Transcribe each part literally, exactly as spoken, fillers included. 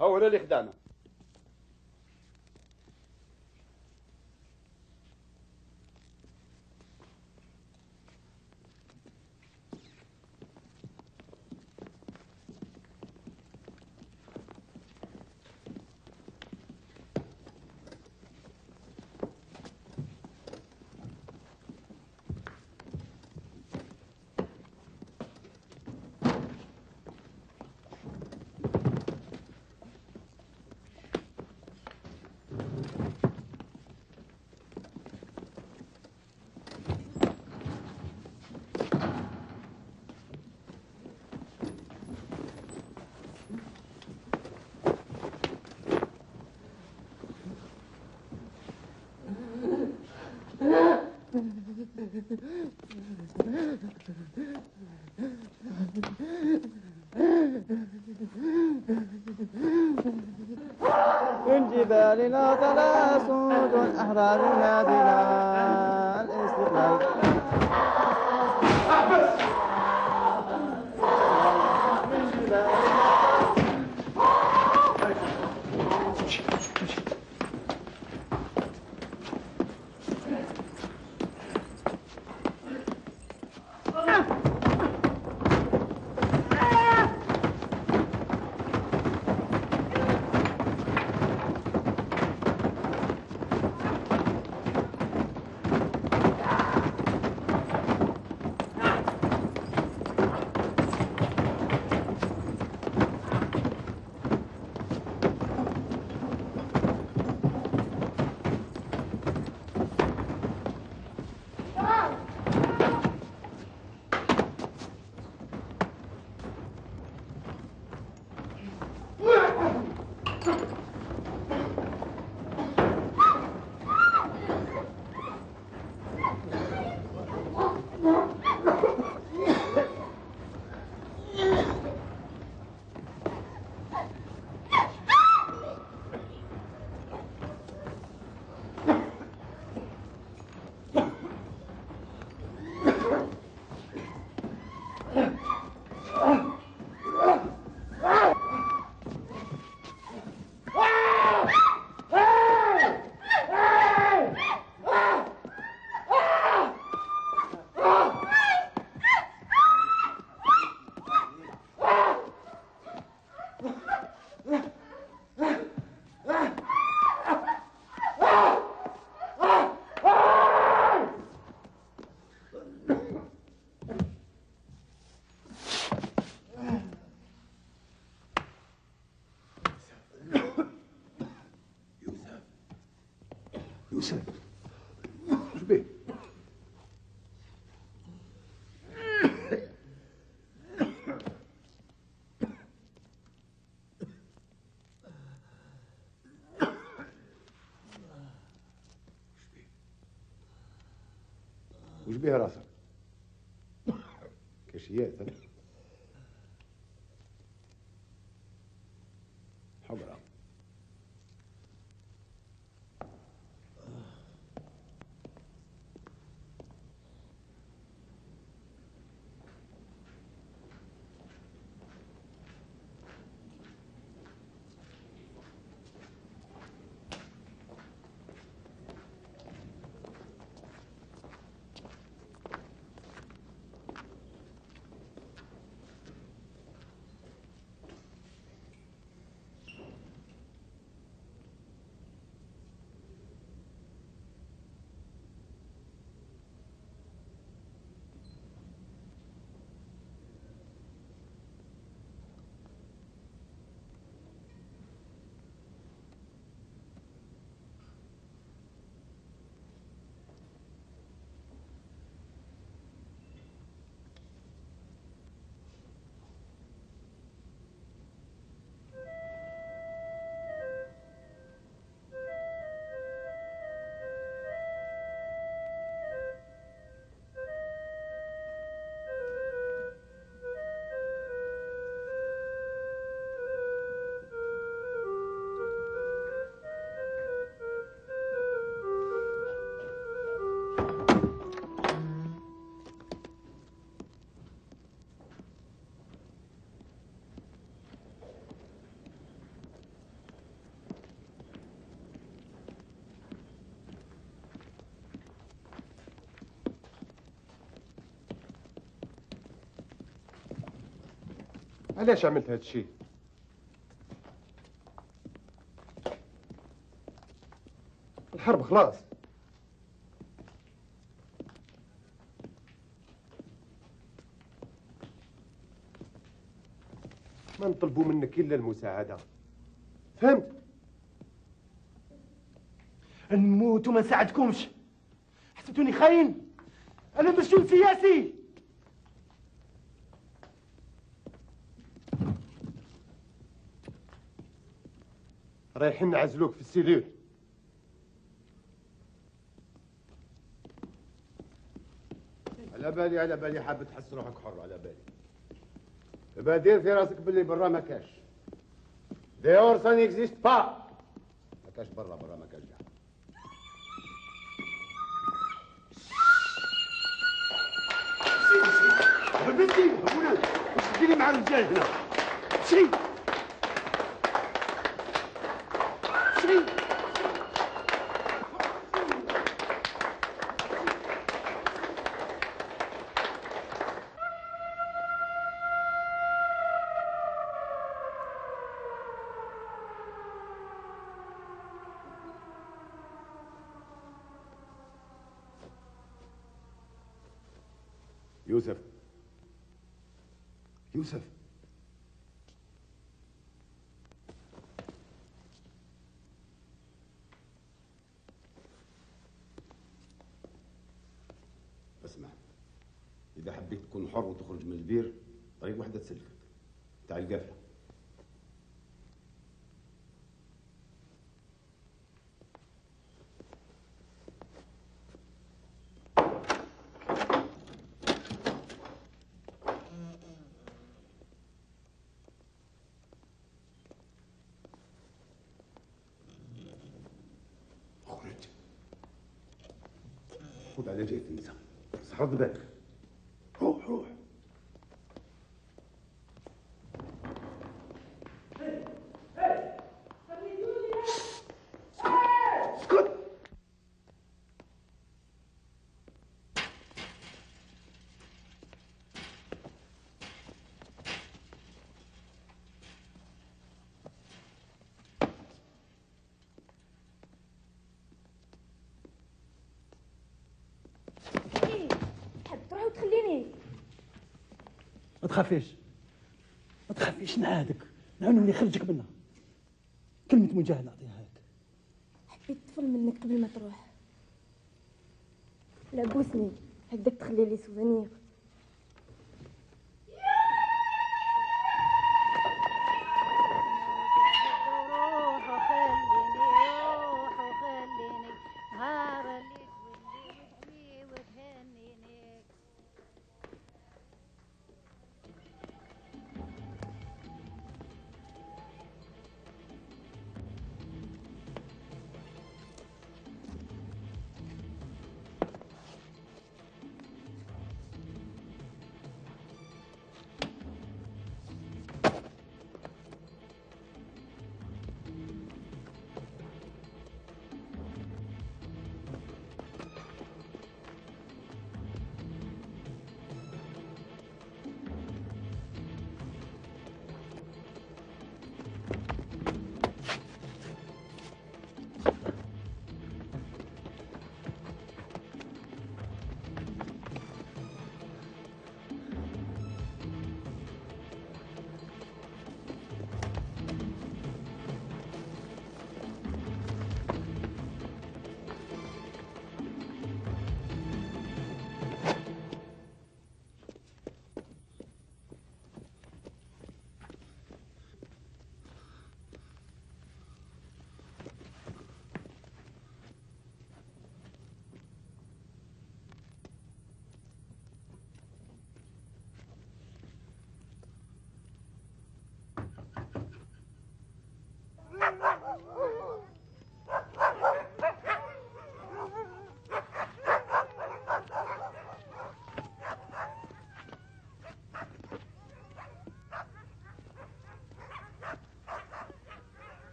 هو اللي خدعنا. من جبالنا طلع صوت أحرار نادينا الاستقلال. من جبالنا يوسف شو بيه؟ وش بيها راسك؟ كشيات حمرا. علاش عملت هاد الشيء؟ الحرب خلاص. ما نطلبوا منك الا المساعده، فهمت؟ نموت وما نساعدكمش. حسبتوني خاين؟ انا مسجون سياسي. رايحين نعزلوك في السيلول. على بالي على بالي حاب تحس روحك حر، على بالي. يبقى دير في راسك باللي برا ما كاش. ديور سان اكزيست با. ما كاش برا، برا ما كاش كاع. بنتي ابونا واش تديري مع الرجال هنا؟ شري شري يوسف يوسف اسمع، إذا حبيت تكون حر وتخرج من البير طريق واحدة تسلفك، تاع القافلة. خرج، خذ على جهة النساء، بس رد بالك. روح روح. اسكت. تروح وتخليني. ما تخافيش ما تخافيش، نعادك نعاونو اللي يخرجك منها. كلمة مجاهد نعطيها لك. حبيت طفل منك قبل ما تروح. لا بوسني هكذاك تخلي لي سوفونير.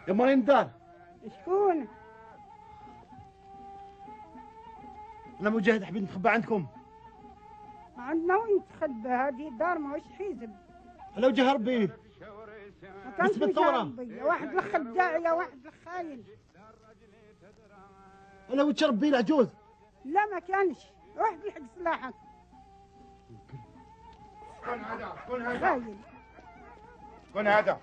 يا مريم الدار. شكون؟ انا مجاهد حبيت نتخبى عندكم. عندنا وين تخبى؟ هذه دار ماهوش حزب. على وجه ربي. ما كانش نسبة الثورة. مجربي. واحد الخداع يا واحد الخاين. على وجه ربي العجوز. لا ما كانش. واحد يحق سلاحك. شكون هذا؟ شكون هذا؟ خاين. شكون هذا؟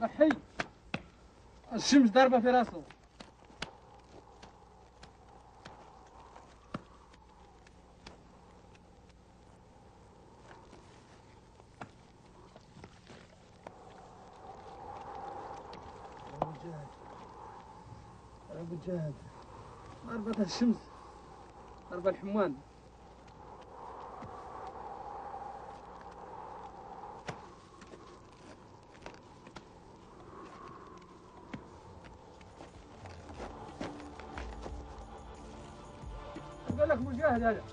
رحي الشمس ضاربه في راسه. ابو جهد ضربة الشمس ضربة الحموان. قال لك مجاهد هذا.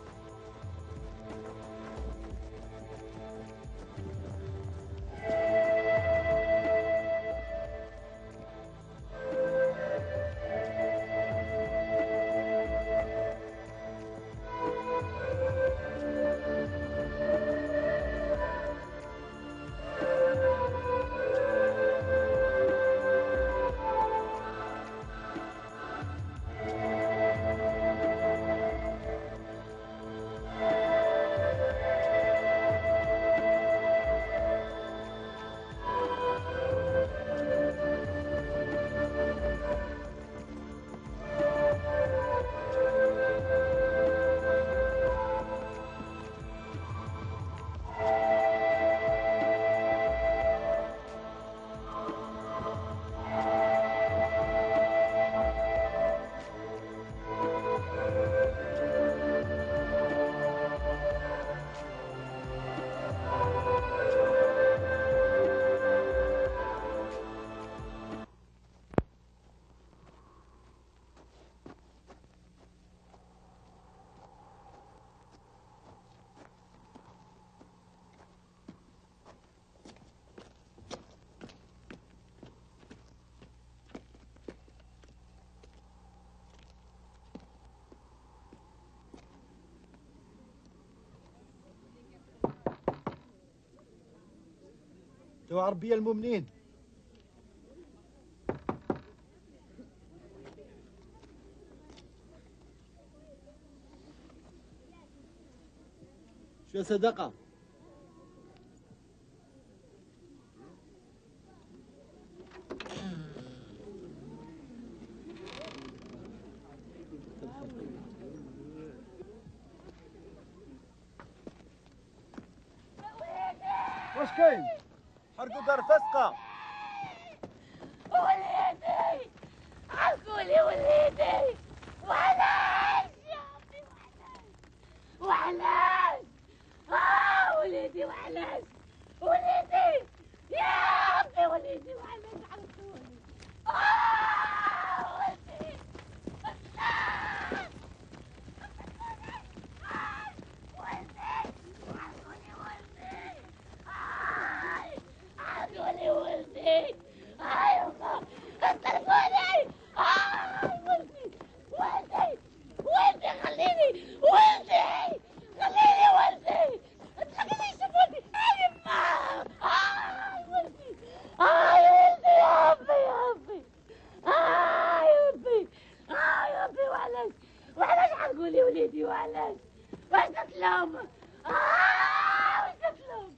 جو عربية المؤمنين. شو صدقة؟ واش كاين؟ حرقوا دار فسقة. وليدي حرقوا لي وليدي. وعلاش يا ربي وعلاش وعلاش؟ اه وليدي وعلاش؟ وليدي يا ربي وليدي وعلاش حرقوني؟ اه وليدي لا حرقوني ولدي. هاي الله قتلوني. هاي ولدي ولدي ولدي خليني ولدي خليني ولدي خليني يشوفوني. هاي يما هاي ولدي هاي ولدي يا ربي يا ربي هاي ربي هاي ربي. وعلاش وعلاش حرقولي وليدي وعلاش؟ واش درت لهم؟ آه واش درت لهم؟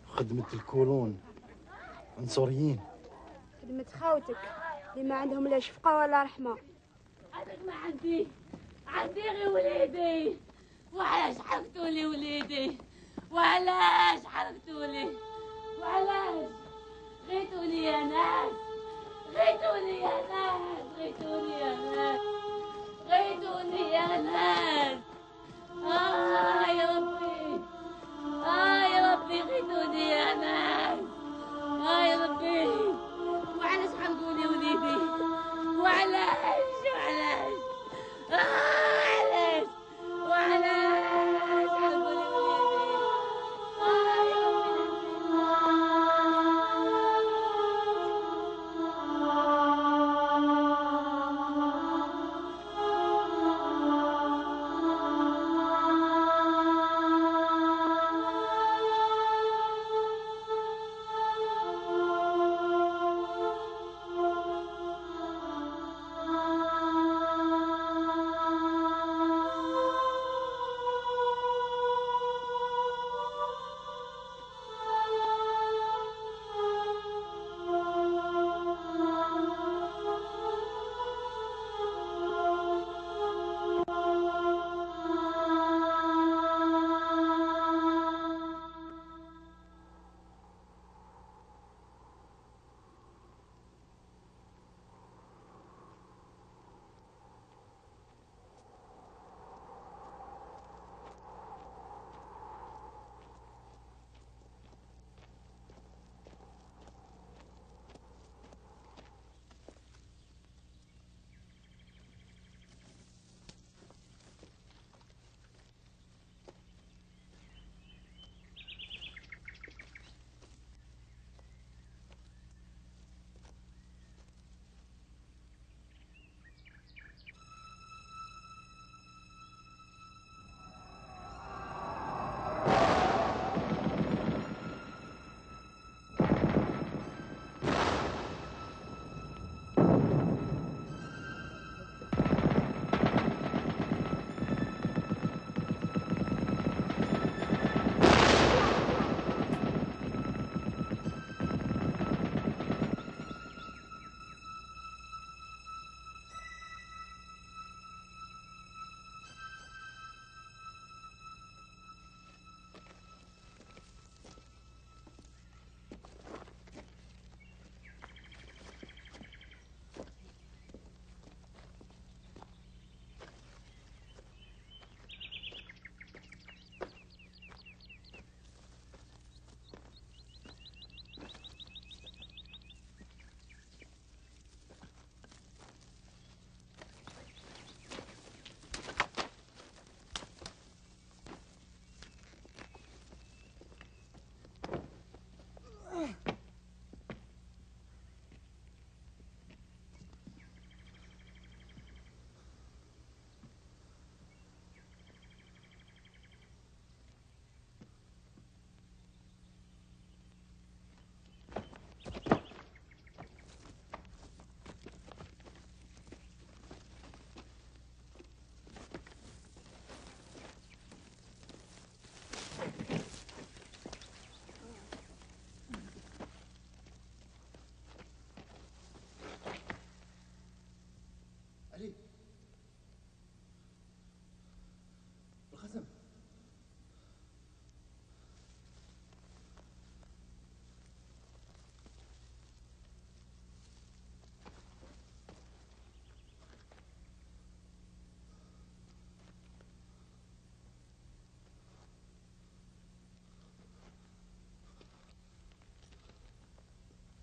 خدمة الكولون عنصريين. خدمة خاوتك اللي ما عندهم لا شفقة ولا رحمة. هذاك ما عندي عندي غير وليدي. وعلاش حرقتولي وليدي؟ وعلاش حرقتولي؟ وعلاش غيتوني يا ناس؟ غيتوني يا ناس غيتوني يا ناس غيتوني يا ناس. آه يا ربي آه يا ربي غيتوني يا ناس. آه يا ربي وعلاش حرقولي وليدي؟ وعلاش وعلاش آه علاش وعلاش حرقولي وليدي؟ آه يا ربي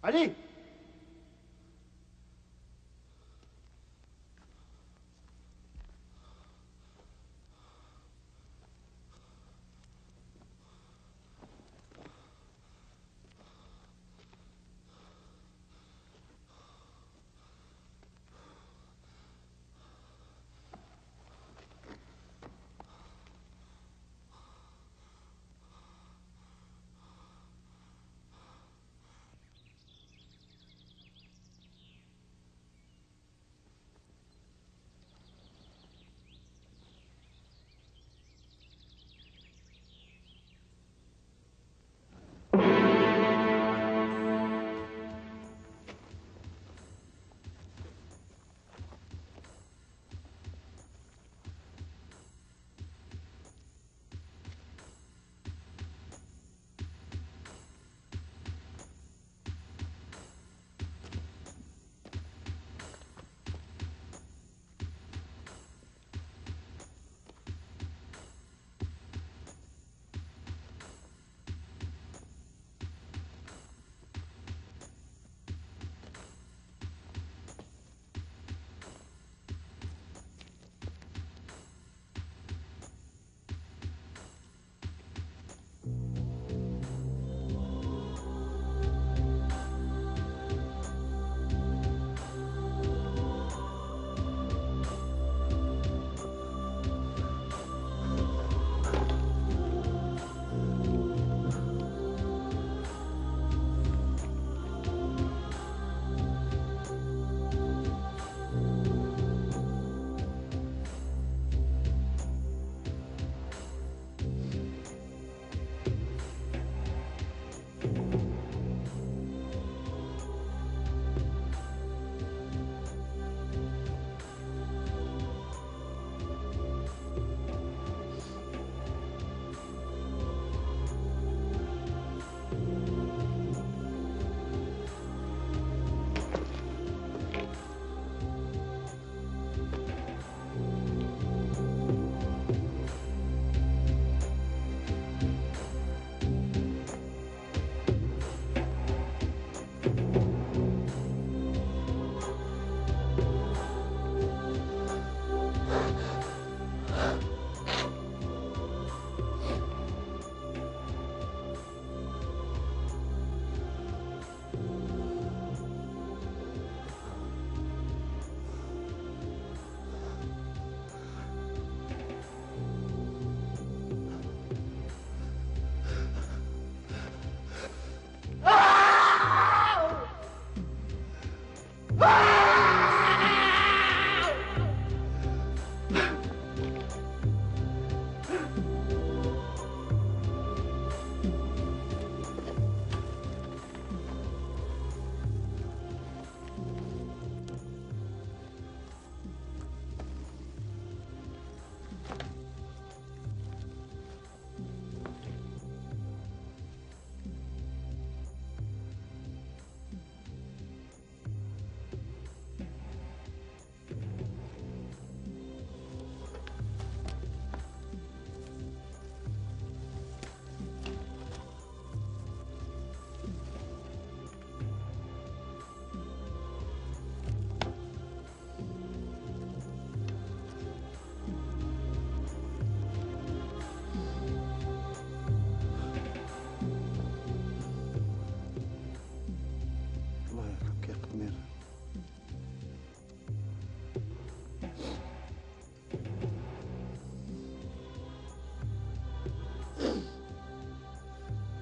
علي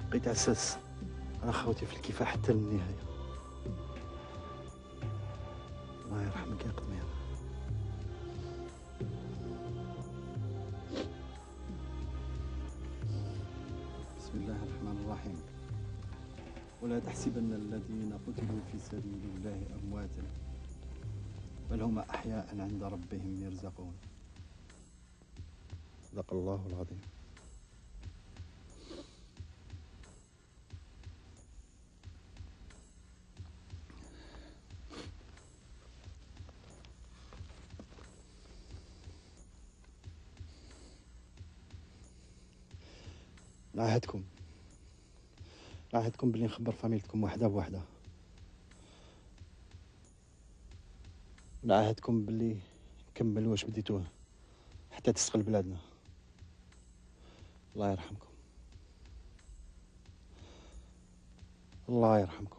بقيت عساس انا خوتي في الكفاح حتى للنهايه. الله يرحمك يا قمير. بسم الله الرحمن الرحيم. ولا تحسبن الذين قتلوا في سبيل الله امواتا بل هم احياء عند ربهم يرزقون. صدق الله العظيم. نعهدكم نعهدكم بلي نخبر فاميلتكم وحده بوحده نعهدكم باللي نكمل واش بديتوه حتى تستقل بلادنا. الله يرحمكم. الله يرحمكم.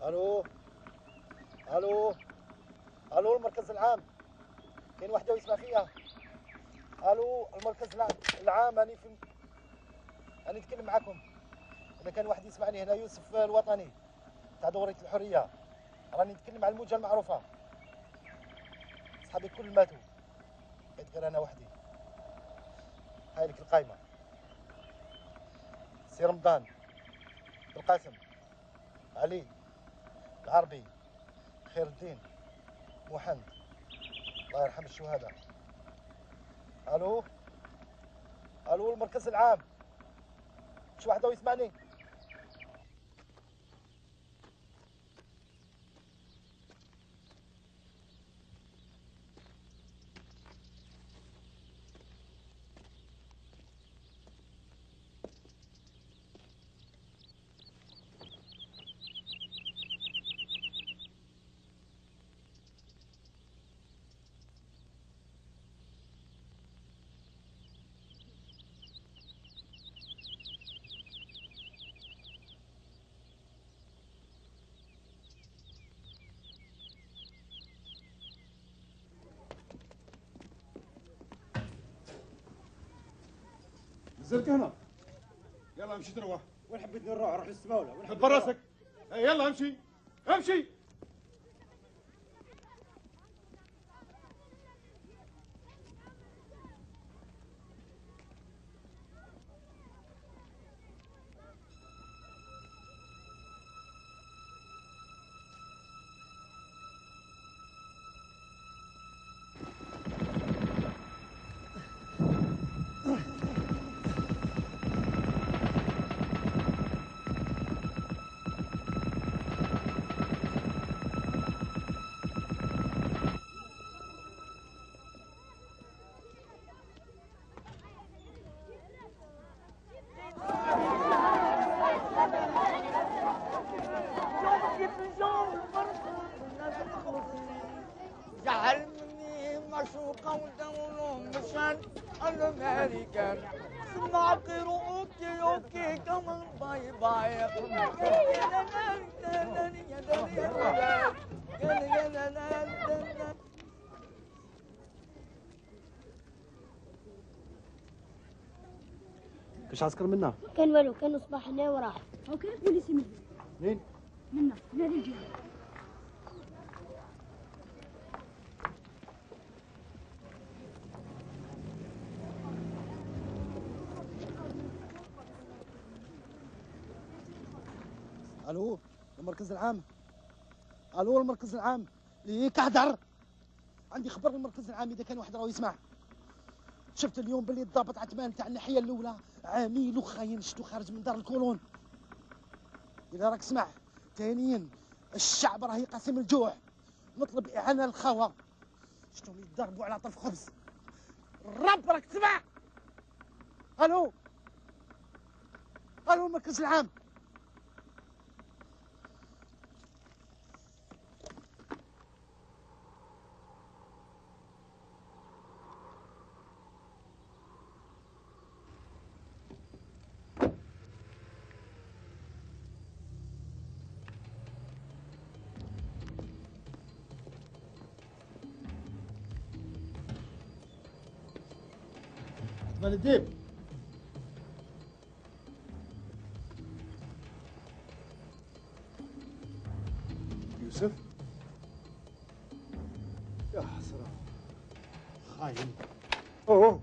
الو الو الو المركز العام، كاين وحده يسمع فيها؟ الو المركز العام، راني في راني نتكلم معكم. اذا كان واحد يسمعني هنا، يوسف الوطني تاع دورة الحرية، راني نتكلم على الموجة المعروفة. صحابي الكل ماتوا، بقيت غير انا وحدي. هاي لك القايمة: سي رمضان، القاسم، علي، العربي، خير الدين، محمد. الله يرحم الشهداء. الو الو المركز العام، شي واحد يسمعني؟ نزلت هنا. يلا امشي تروح. وين حبيت نروح؟ اروح للسماوله. وين حب راسك. يلا امشي امشي. جعلني معشوقة ودولهم مشان الأمريكان سمعقر أوكي أوكي كمان باي باي. كاش عسكر منا؟ كان والو، كانوا صباح هنا وراح. اوكي بوليسي منا. منين؟ منا من هذه الجهه. الو المركز العام. الو المركز العام. ليه كهدر؟ عندي خبر المركز العام اذا كان واحد راه يسمع. شفت اليوم باللي الضابط عثمان تاع الناحيه الاولى عميل وخاين، شفتو خارج من دار الكولون. اذا راك سمع. ثانيا الشعب راه يقاسم الجوع، نطلب اعانه للخوه. شفتهم يتضربوا على طرف خبز. الرب راك تسمع؟ الو الو المركز العام. جبل الديب. يوسف؟ يا حسرة، خاين. اوه اوه،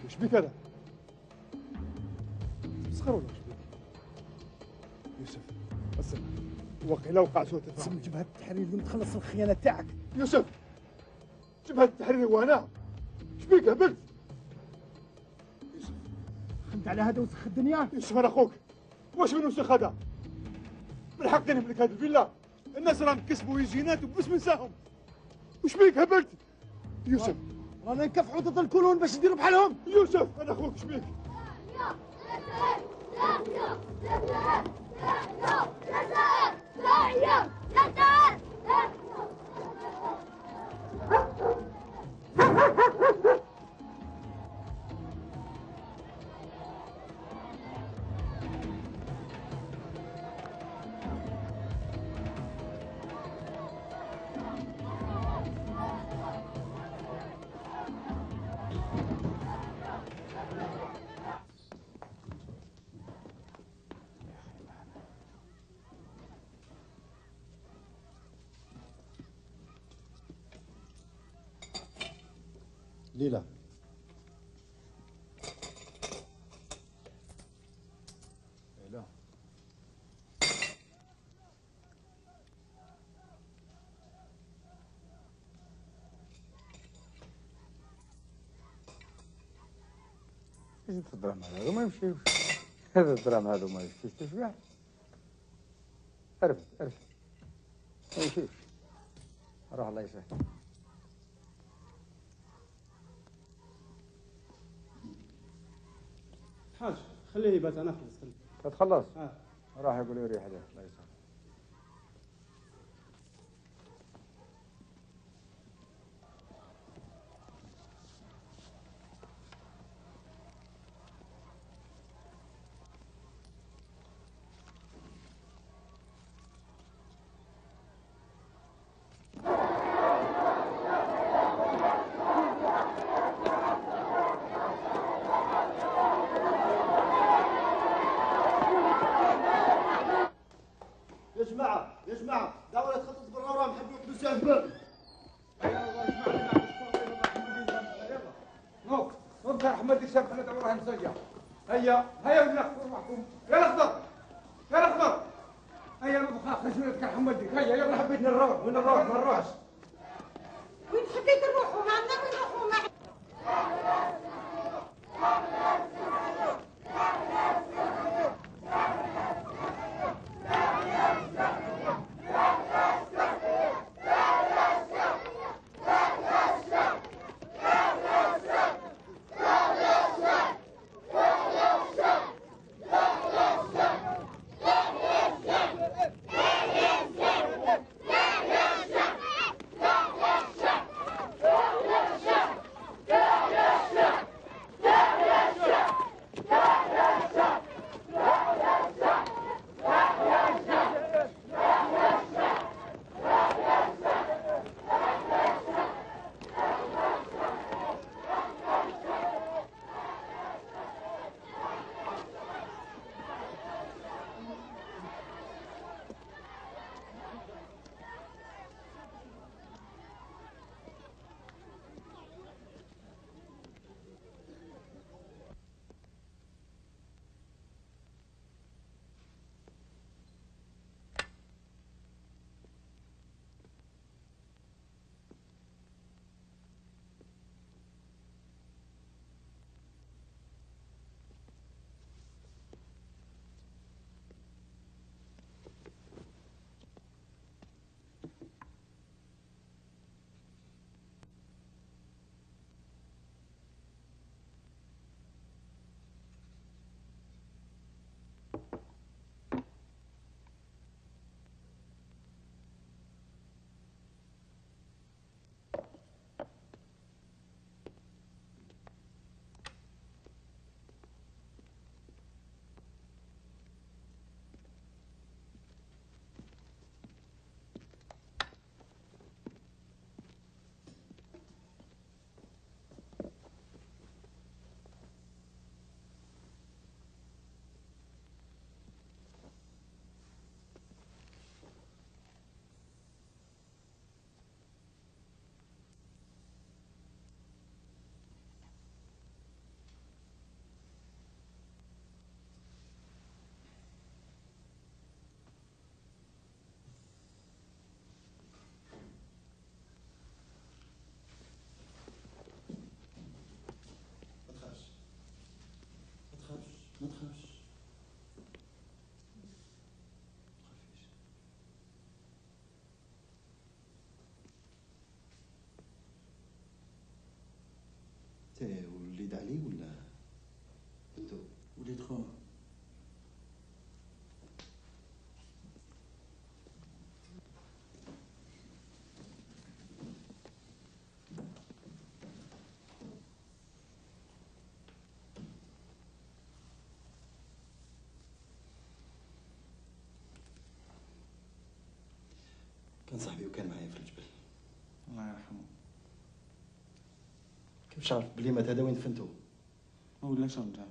وش بيك هذا؟ مسخر ولا وش بيك؟ يوسف اسمع، وقيلا وقع سوء تفاهم. اسم جبهة التحرير اليوم تخلص الخيانة تاعك. يوسف، جبهة التحرير وانا؟ ايش بيك هبلت؟ يوسف خنت على هذا وسخ الدنيا. يوسف انا اخوك، واش من وسخ هذا؟ من حق نملك هذه الفيلا، الناس راهم كسبوا يجينات وبس ننساهم. وش بيك هبلت؟ يوسف رانا نكافحوا ضد الكولون باش نديروا بحالهم. يوسف انا اخوك، ايش بيك؟ ليلى، ليلى ايش الدراهم هذا ما يمشيوش. هذا الدراهم هذا ما يمشيش تشبع. عرفت عرفت ما يمشيش. روح الله يسهل. حاج خليه يبات، انا اخلص. خليه تخلص؟ اه راح يقول لي ريح عليه الله يسهل. يا جماعة يا جماعة، داولة تخطط برا وراهم حبوا يحبسوا هبل. نوك نوك احمد الشاب خلينا ندورها مسجع. هيا هيا ولد الاخضر معكم. يا الاخضر يا الاخضر هيا نبغى خشمتك حمدك. هيا يلا حبيت نروح. وين نروح؟ ما نروحش. وين حبيت نروحوا معنا؟ وين نروحوا معنا؟ Yeah! تي وليد علي ولا انتو؟ وليد خوه. كان صاحبي وكان معايا في الجبل. الله يرحمه. كيف عرفت بلي مات هذا وين دفنتو؟ ما ولاش رجع.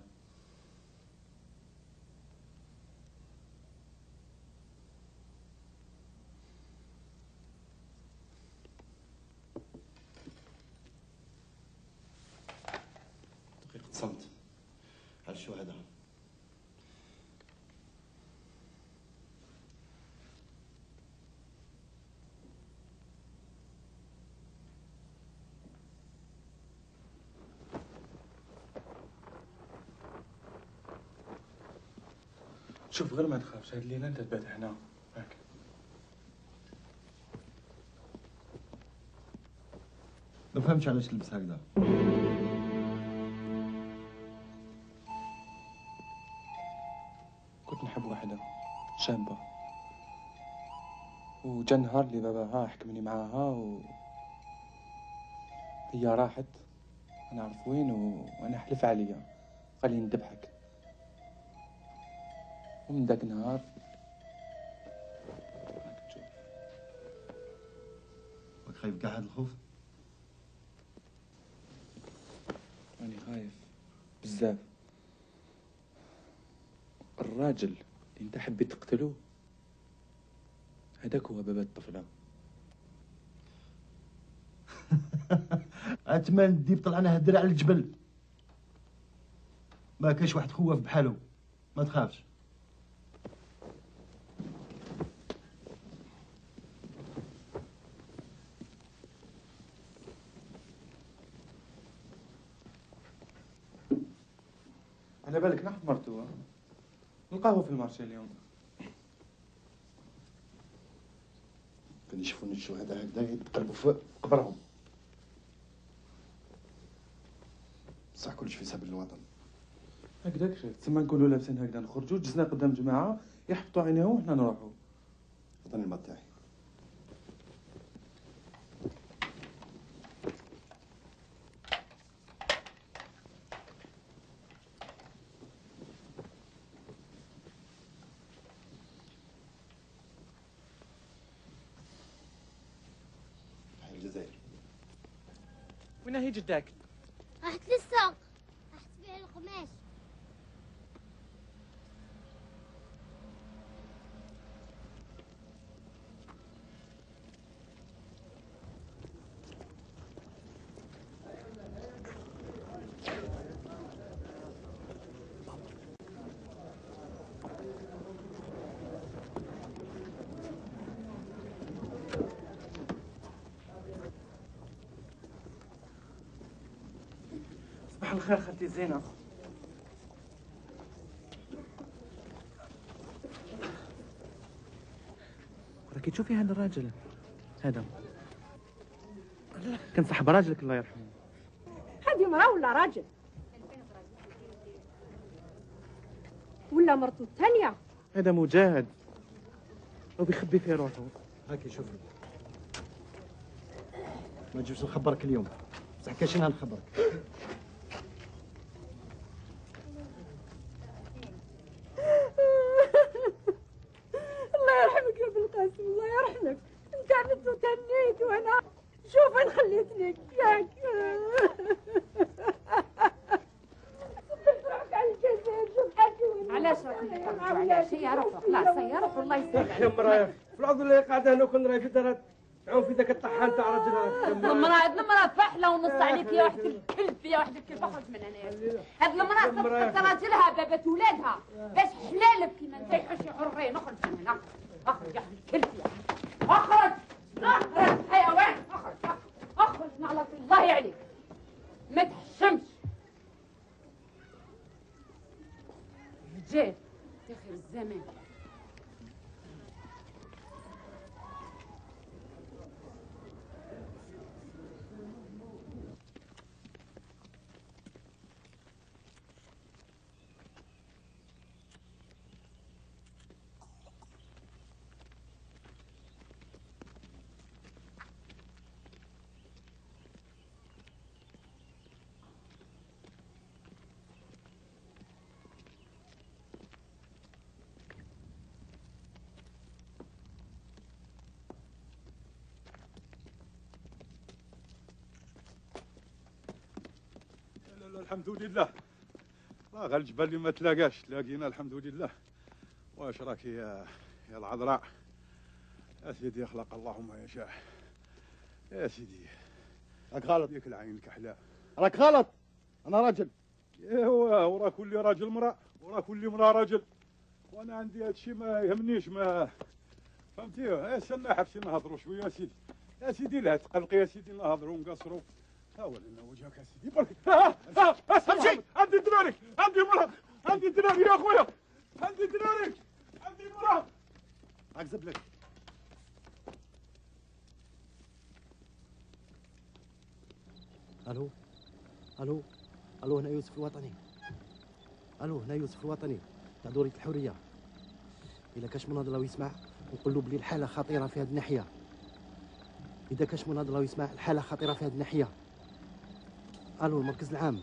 دقيقة صمت على الشهداء. شوف غير ما تخافش، هاد الليلة انت تبات هنا هاك. ما فهمتش علاش تلبس هكذا. كنت نحب واحدة شابة، وجا نهار اللي باباها حكمني معاها و هي راحت ما نعرف وين، وانا حلف عليا قال لي نذبحك. ومن داك النهار راك خايف كاع هاد الخوف؟ راني خايف بزاف. الراجل اللي انت حبيت تقتلو هذاك هو بابا الطفلة. اتمنى الديب طلعنا هدر على الجبل، ما كاش واحد خوف بحالو، ما تخافش. على بالك نحن مرتوه نلقاهو في المارشي اليوم. كان يشوفون الشهداء هكذا يتقلبوا في قبرهم. صح كلش في سبيل الوطن. هكذاك شفت تسمى نكونوا لابسين هكذا نخرجوا جزنا قدام جماعه يحبطوا عينيهم وحنا نروحوا. عطني الماء تاعي. الجزائر. وين هي جداك؟ راحت للسوق، راحت تبيع القماش. صباح الخير خالتي زينب. راكي تشوفي هذا الراجل هذا كان صاحب راجلك الله يرحمه. هذه مرأة ولا راجل؟ ولا مرته الثانية؟ هذا مجاهد وبيخبي في روحه. هاكي شوفي، ما تجيبش نخبرك اليوم، بصح كاين شنو نخبرك. الله يرحمك يا ابن القاسم، الله يرحمك. انت عملت وتنيت وانا شوف وين خليتني ياك. روحك على الجزائر شوف حاجه. علاش راكم تفرجوا على شي؟ روحوا خلاص يا روحوا الله يسلمك. يا مرايا في العضو اللي قاعده هنا كون راهي في دارات تعوم في ذاك الطحان تاع راجلها. المرأة هاد المرأة فحلة ونص عليك يا واحد الكلب، يا واحد الكلب اخرج من هنا. هاد المرأة صدقت راجلها بابت ولادها باش حلالك كيما انت يحشي حرين. اخرج من هنا، اخرج يا واحد الكلب يا اخرج اخرج حيوان اخرج اخرج نعلة الله عليك ما تحشمش. رجال يا خير الزمان. الحمد لله. لا غير الجبل اللي ما تلاقاش تلاقينا الحمد لله. واش راك يا يا العذراء؟ يا سيدي يخلق الله ما يشاء. يا سيدي راك غلط. ياك العين الكحلاء. راك غلط. انا راجل. ايوا وراه كل راجل امراه وراه كل امراه راجل. وانا عندي هذا الشيء ما يهمنيش ما فهمتي. يا استنى حبسي نهضروا شويه يا سيدي. يا سيدي لا تقلقي يا سيدي نهضروا ونقصروا. ها هو لنا وجهك يا سيدي برك. ها ها امشي. عندي دراري عندي مراه عندي دراري يا خويا عندي دراري عندي مراه. اكذب لك. الو الو الو هنا يوسف الوطني. الو هنا يوسف الوطني تاع دورية الحرية. اذا كاش مناضل راهو يسمع نقول له بلي الحالة خطيرة في هذه الناحية. اذا كاش مناضل راهو يسمع الحالة خطيرة في هذه الناحية. الو المركز العام.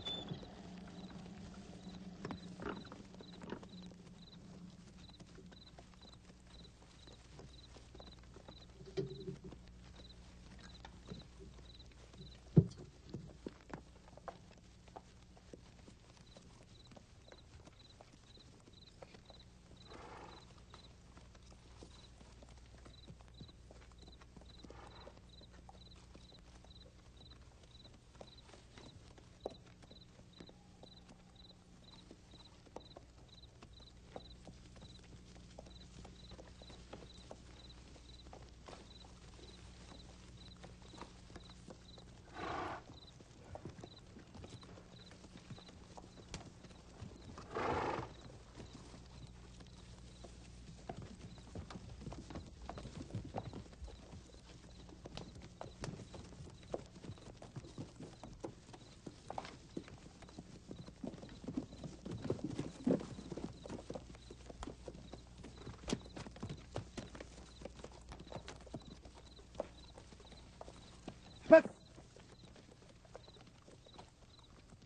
بس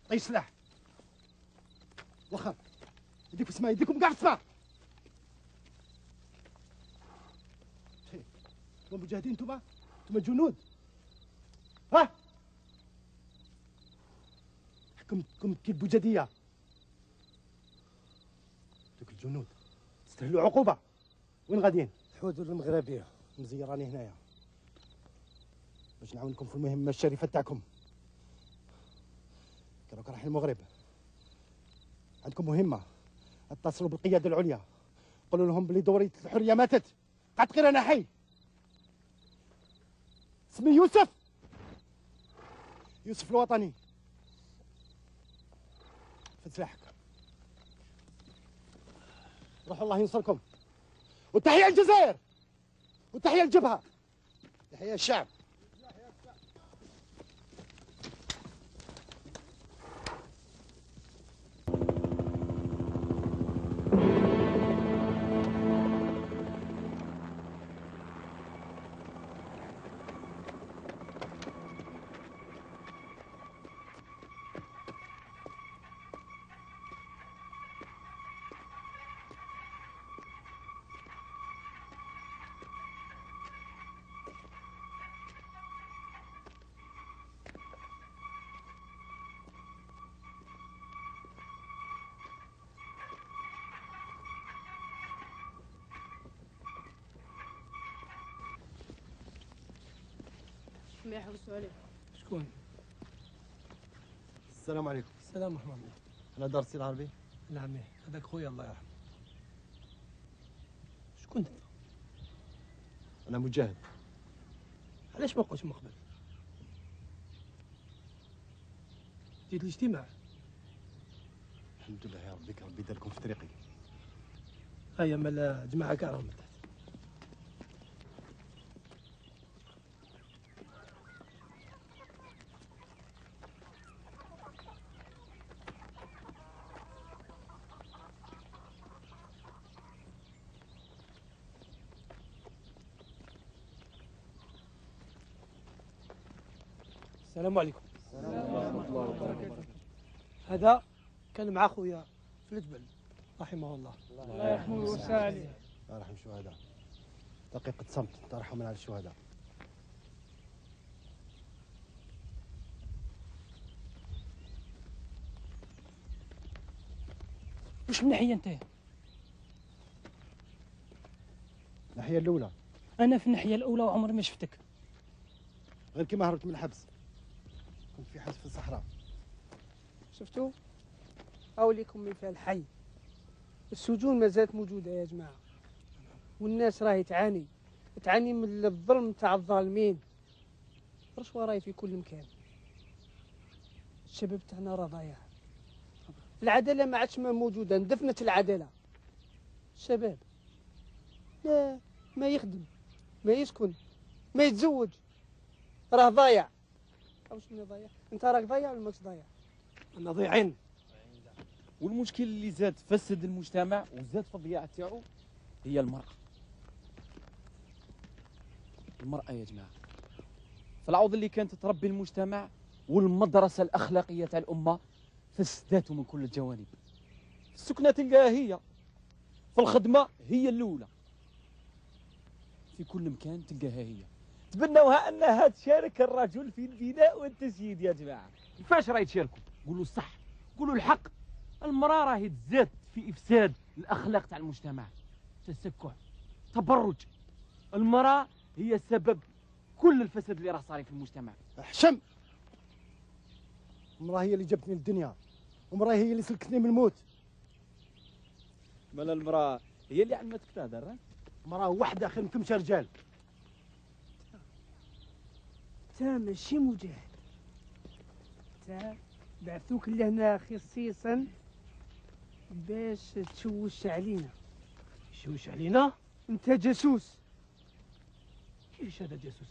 طي سلاح وخر يديك في السماء يديكم كاع في السماء. انتم مجاهدين انتم انتم جنود. ها حكمتكم كي البوجديه. دوك الجنود تستاهلوا عقوبه. وين غاديين؟ الحدود المغربيه مزيراني هنايا باش نعاونكم في المهمه الشريفه تاعكم. راك رايحين المغرب عندكم مهمه. اتصلوا بالقياده العليا قولوا لهم بلي دورية الحريه ماتت. قعدت غير انا حي. اسمي يوسف يوسف الوطني. فد سلاحك روحوا الله ينصركم. وتحيه الجزائر وتحيه الجبهه تحيه الشعب. ما يحوسوا عليه. شكون؟ السلام عليكم. السلام ورحمة الله. أنا درسي العربي؟ نعم هذاك خويا الله يرحمه. شكون أنت؟ أنا مجاهد. علاش ما قلتش من قبل؟ جيت الاجتماع. الحمد لله يا ربي ربي داركم في طريقي. هيا مال جماعة كاع راهم تحت. السلام عليكم. السلام ورحمة الله وبركاته. هذا كان مع خويا في الجبل رحمه الله. الله يرحمه ويوسع عليه. الله يرحم الشهداء. دقيقة صمت ترحم على الشهداء. واش من ناحيه انت؟ الناحيه الاولى. انا في الناحيه الاولى وعمري ما شفتك. غير كيما هربت من الحبس كنت في حبس في الصحراء. شفتوا؟ أوليكم مثال الحي. السجون ما زالت موجودة يا جماعة، والناس راهي تعاني تعاني من الظلم تاع الظالمين. الرشوة راهي في كل مكان. الشباب تاعنا راه ضايع. العدالة ما عادش ما موجودة، اندفنت العدالة. الشباب لا ما يخدم، ما يسكن، ما يتزوج، راه ضايع. واش من ضايع؟ انت راك ضايع ولا ماكش ضايع؟ انا ضايعين. والمشكل اللي زاد فسد المجتمع وزاد في الضياع تاعو هي المرأة. المرأة يا جماعة في العوض اللي كانت تربي المجتمع والمدرسة الأخلاقية تاع الأمة فسداته من كل الجوانب. في السكنة تلقاها هي، في الخدمة هي الأولى، في كل مكان تلقاها هي. تبنوها أنها تشارك الرجل في البناء والتسييد يا جماعة. كيفاش راهي تشاركوا؟ قولوا الصح، قولوا الحق. المرأة راهي تزاد في إفساد الأخلاق تاع المجتمع، تسكع، تبرج. المرأة هي سبب كل الفساد اللي راه صاري في المجتمع. احشم. المرأة هي اللي جابتني للدنيا، ومرأة هي اللي سلكتني من الموت. مال المرأة هي اللي علمتك تهدر. مرأة واحدة خير من خمسة رجال. تا ماشي مجاهد، تا بعثوك لهنا خصيصا باش تشوش علينا. تشوش علينا؟ انت جاسوس. كيفاش هذا جاسوس؟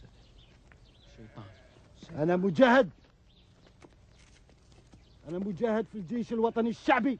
شيطان. أنا مجاهد، أنا مجاهد في الجيش الوطني الشعبي.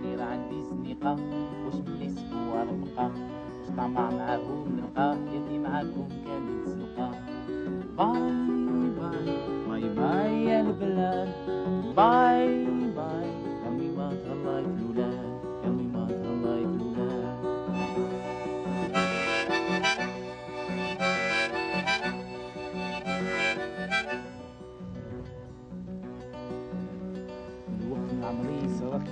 غير عندي زنيقة واش ملي اسبوع ربقة واش طمع معاهم نلقى يدي معاكم كانت زلقة. باي باي باي باي يا البلاد، باي باي يا ما تهلاي في الولاد، يا ما تهلاي في الولاد. الوقت عمري سرق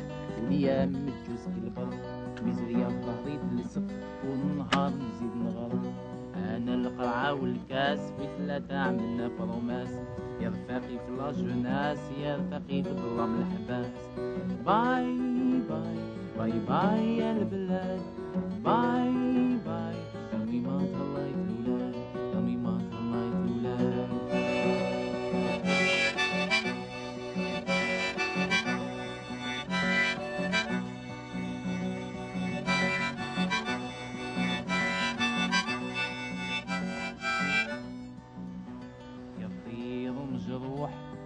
وليا مجوز كالبر، مزرية في ظهري تلصق والنهار نزيد نغرق. انا القرعة والكاس في ثلاثة عملنا بروماس، يا رفاقي في لاجوناس يا رفاقي في ظلام الحباس. باي باي باي باي يا البلاد، باي باي يومي ما تهلاي في الولاد، يومي ما تهلاي في الولاد.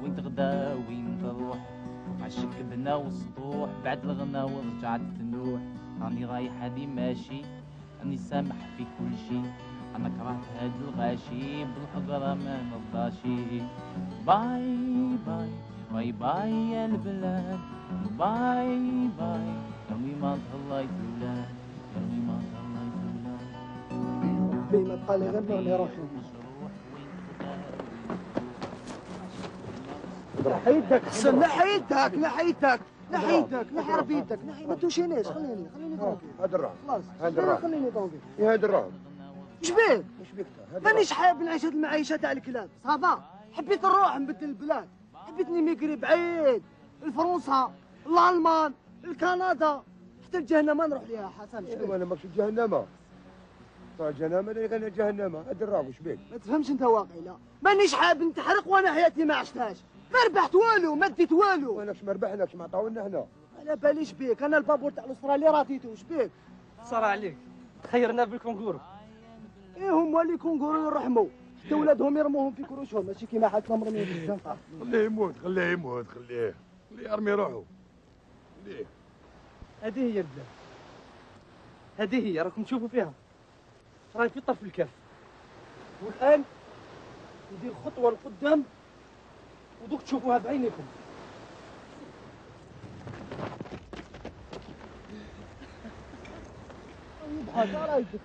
وين تغدا وين تروح، وعشك بنا وسطوح بعد الغنا ورجعت تنوح. راني رايح هادي ماشي راني سامح في كل شي، انا كرهت هاد الغاشي بالحقرة ما نرضاشي. باي باي باي باي يا البلاد، باي باي يومي ما تهلاي في الولاد، يومي ما تهلاي في الولاد. ربي ما بقى لي غير نغني روحي. نحي يدك حسن، نحي يدك نحي يدك نحي يدك نحي ربي يدك نحي ما توشينيش. خليني خليني طونكي. هاد الراهم خلاص هاد الراهم خليني طونكي. يا هاد الراهم اش بيك؟ اش بيك؟ مانيش حاب نعيش هاد المعيشه تاع الكلاب صافا. حبيت نروح نبدل البلاد، حبيت نيميغري بعيد لفرنسا لالمان لكندا حتى الجهنم ما نروح ليها حسن. ايوا انا ماكش جهنم. طيب جهنم انا غير جهنم. هاد الراهم واش بيك؟ ما تفهمش انت واقعي. لا مانيش حاب نتحرق وانا حياتي ما عشتهاش. ما ربحت والو ما ديت والو. واناش ما ربحناش ما عطاولنا حنا. على باليش بيك انا البابور تاع الاسترالي راتيتو. اش بيك؟ صرا عليك خيرنا بالكونغورو. ايه هما اللي كونغورو يرحموا حتى ولادهم يرموهم في كروشهم ماشي كيما حالتنا مرميين في الزنقه. خليه يموت خليه يموت خليه خليه يرمي روحه خليه. هذه هي البلاد، هذه هي راكم تشوفوا فيها راهي في طرف الكاف. والان ندير خطوه لقدام ودوك تشوفوها بعينيكم.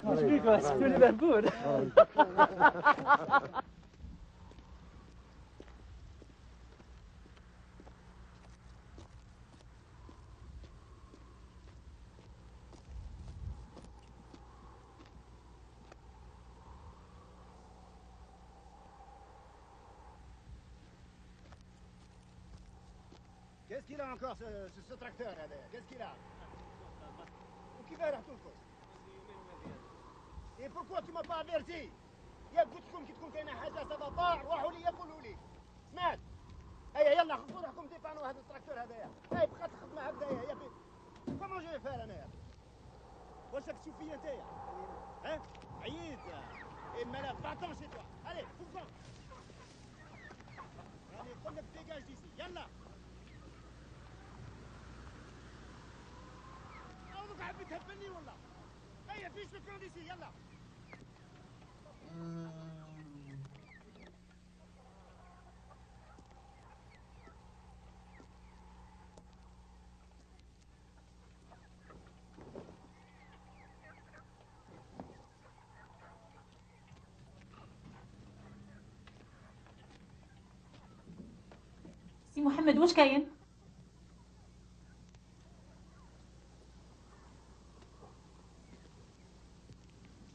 واش بيك سكتوني مهبول؟ Qu'est-ce qu'il a encore ce, ce, ce tracteur là derrière? Qu'est-ce qu'il a? وكيف رحتوا لكم؟ Et pourquoi tu m'as pas averti? يا قلت لكم كي تكون كاينه حاجه سافا روحوا لي قولوا لي. سمعت؟ هيا يلا خذوا روحكم ديبانوا هذا التراكتور هذايا. هاي بقات الخدمه هكذايا يا بي. كومون جو فير انايا؟ واش راك تشوف فيا نتايا؟ ها؟ عييت. اما لا بعتون سي توا. الي فوقهم. راني نقول لك ديجاج ديسي يلا. عاودك حبيت تهبلني ولا؟ هيا فيش لو ديسي يلا. سي محمد واش كاين؟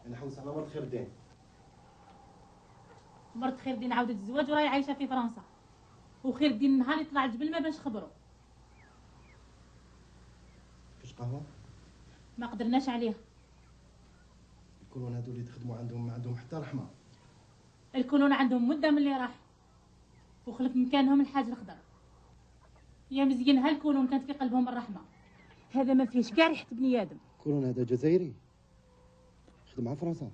انا حوس على مرت خير الدين. مرت خير الدين عاودت الزواج وراهي عايشه في فرنسا. وخير الدين نهار يطلع الجبل ما باش خبروا. فاش قهوه؟ ما قدرناش عليه. الكولون هادو اللي تخدموا عندهم ما عندهم حتى رحمه. الكولون عندهم مده من اللي راح وخلف مكانهم الحاج الخضر. يا مزيان هالكولون كانت في قلبهم الرحمه. هذا ما فيهش كاع ريحه بني ادم. الكولون هذا جزائري خدم مع فرنسا.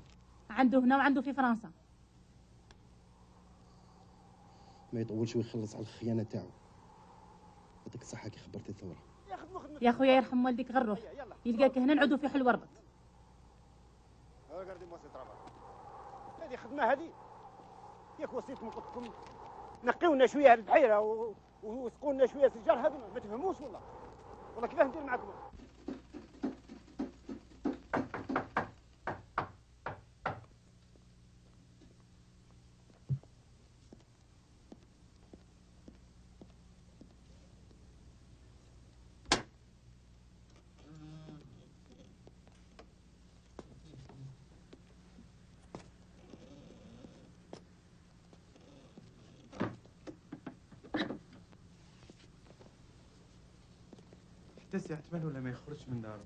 عنده هنا وعنده في فرنسا. ما يطولش ويخلص على الخيانه تاعو. يعطيك الصحه كي خبرتي الثوره. يا خويا يرحم والديك غير روح يلقاك هنا نعودوا في حل وربط. هذه خدمه هذه ياك وصيتكم قلت لكم نقيو لنا شويه هذه البحيره وسقوا لنا شويه سجار. هذه ما تفهموش والله والله كيفاه ندير معكم. حتى سي عثمان ولا ما يخرجش من دارو.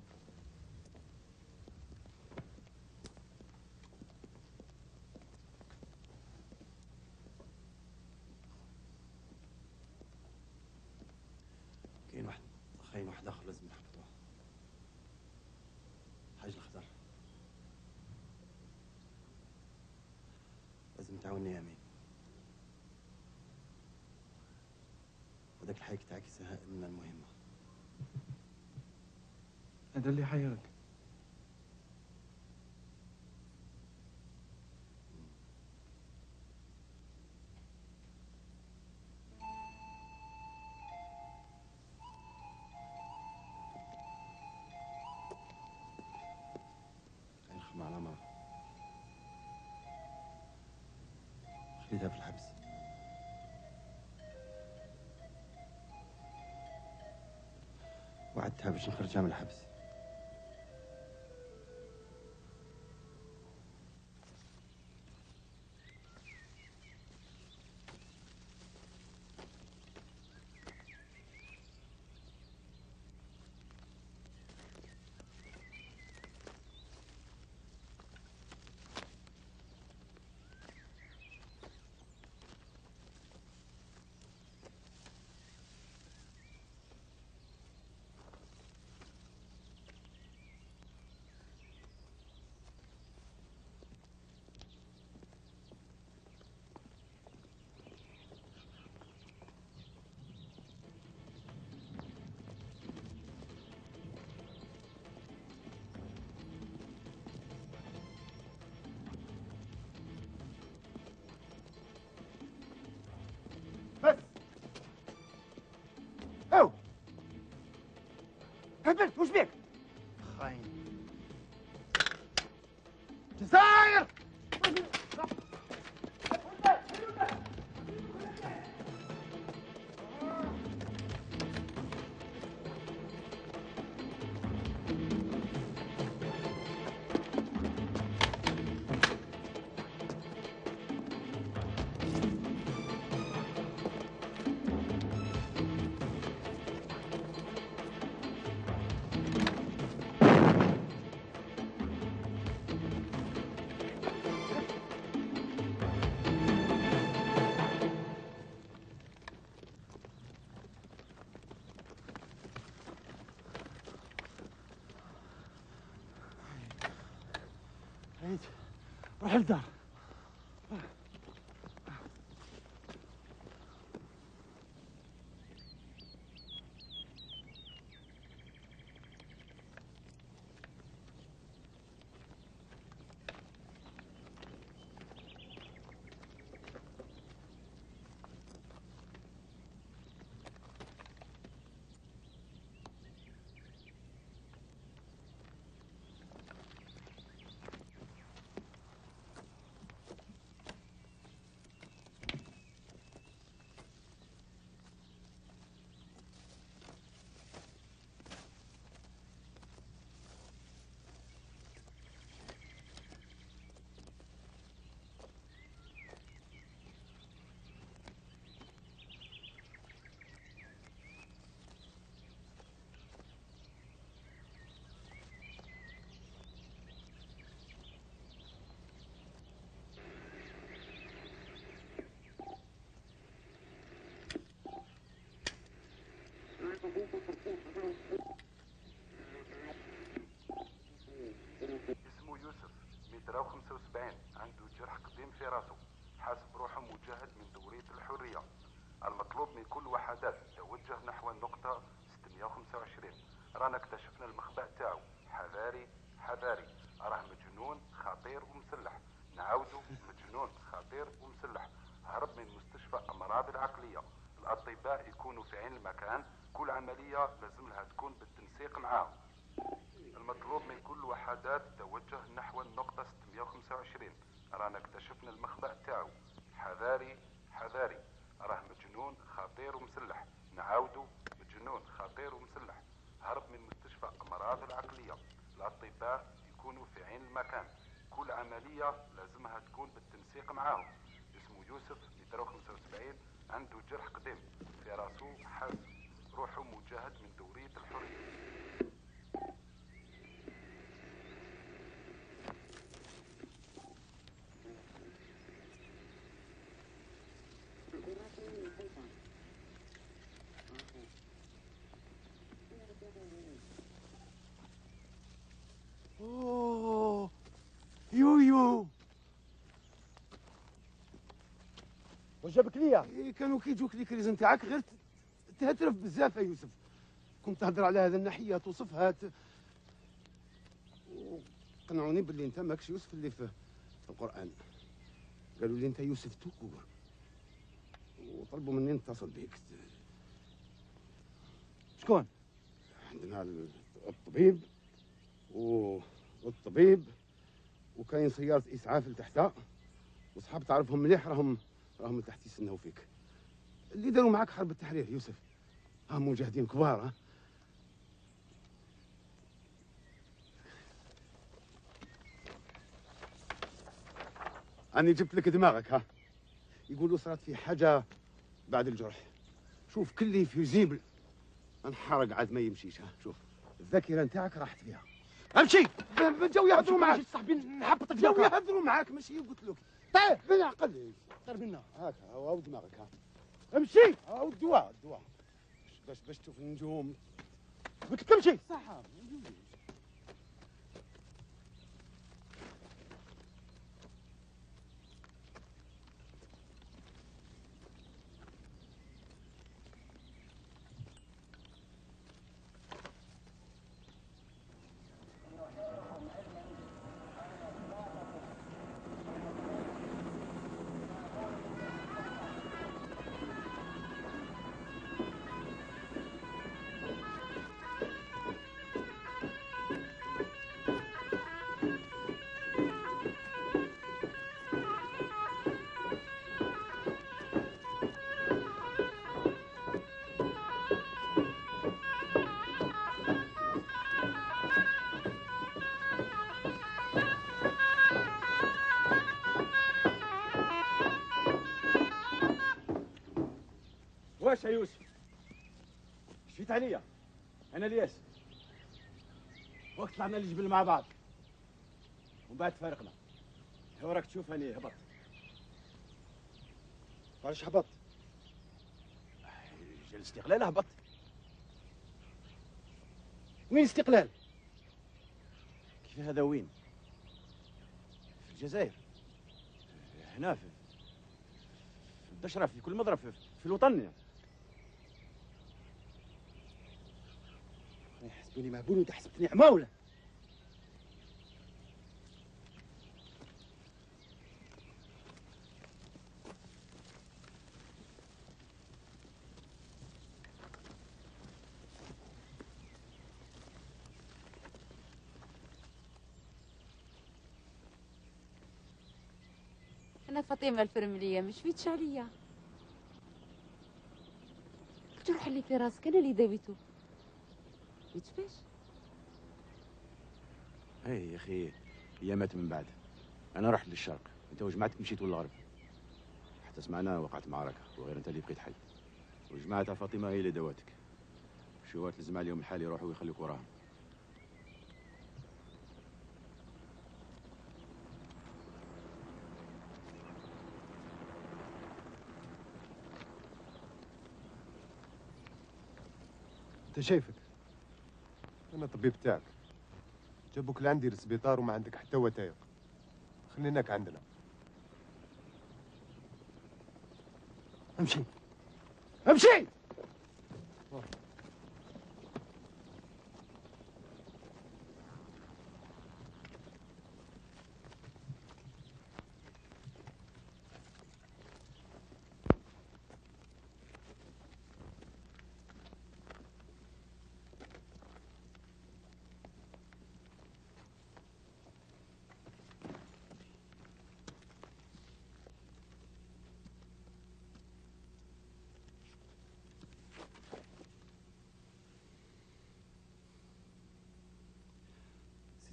كاين واحد خاين واحد اخر لازم نحبطوه. حاج الخضر لازم تعاوني يا امين. وداك الحيك تاعك يسهل لنا المهمه. هذا اللي حيرك. نخدم على مرة خليتها في الحبس. وعدتها باش نخرجها من الحبس. هبلت وش بيك؟ خاين جزاير عيد روح للدار. اسمه يوسف متر وخمسة وسبعين، عنده جرح قديم في راسه، حاسب روحه مجاهد من دورية الحرية. المطلوب من كل وحدات توجه نحو النقطة ستمائة وخمسة وعشرين. رانا اكتشفنا المخبأ تاعو. حذاري حذاري، راه مجنون خطير ومسلح. نعاودو مجنون خطير ومسلح، هرب من مستشفى أمراض العقلية. الأطباء يكونوا في عين المكان، كل عملية لازم لها تكون بالتنسيق معاهم. المطلوب من كل وحدات توجه نحو النقطة ستمائة وخمسة وعشرين. رانا اكتشفنا المخبأ تاعو. حذاري حذاري، راه مجنون خطير ومسلح. نعاودو مجنون خطير ومسلح، هرب من مستشفى أمراض العقلية. الأطباء يكونوا في عين المكان، كل عملية لازمها تكون بالتنسيق معاهم. اسمه يوسف متر وخمسة وسبعين، عنده جرح قديم في راسه، حاسب روحه مجاهد من دورية الحرية. اوه يويو واش جابك ليا؟ إيه كانوا كيجوك لي كريز نتاعك غير تهترف بزاف يا يوسف. كنت تهضر على هذا الناحيه توصفها ت... وقنعوني باللي انت ماكش يوسف اللي في القران. قالوا لي انت يوسف توكور، وطلبوا مني نتصل بك. شكون؟ عندنا الطبيب و... والطبيب وكاين سيارة إسعاف لتحتها، وصحاب تعرفهم مليح راهم راهم لتحت يستناو فيك. اللي داروا معاك حرب التحرير يوسف، راهم مجاهدين كبار. ها أنا جبت لك دماغك ها. يقولوا صارت في حاجة بعد الجرح. شوف كلي فيزيبل انحرق عاد ما يمشيش. ها شوف الذاكرة نتاعك راحت فيها. امشي جاو يهضروا معاك صاحبي نحبطك جاو يهضروا معاك ماشي قلت لك. طيب بالعقل طير منا هاك هاو دماغك ها. امشي هاو الدواء الدواء باش باش تشوف النجوم. قلت لك امشي صح. واش يا يوسف؟ شفيت عليا؟ انا الياس. وقت طلعنا للجبل مع بعض ومن بعد فارقنا. هو راك تشوف اني هبط. علاش هبط؟ جا الاستقلال هبط. وين الاستقلال؟ كيف هذا وين؟ في الجزائر. هنا في في الدشرة في كل مضرب في, في الوطن. يحسبوني مهبول وانت حسبتني عماولة. أنا فاطمة الفرملية مش فيتش عليا. الجرح اللي في راسك أنا اللي داويته. يتفاش؟ اي يا اخي هي مات من بعد. انا رحت للشرق، انت وجماعتك مشيتوا للغرب. حتى سمعنا وقعت معركه وغير انت اللي بقيت حي. وجماعتها فاطمه هي اللي دواتك. شو تلزم عليهم الحال يروحوا ويخليك وراهم. انت شايفك انا الطبيب تاعك. جابوك لعندي للسبيطار وما عندك حتى وثائق. خليناك عندنا. امشي امشي.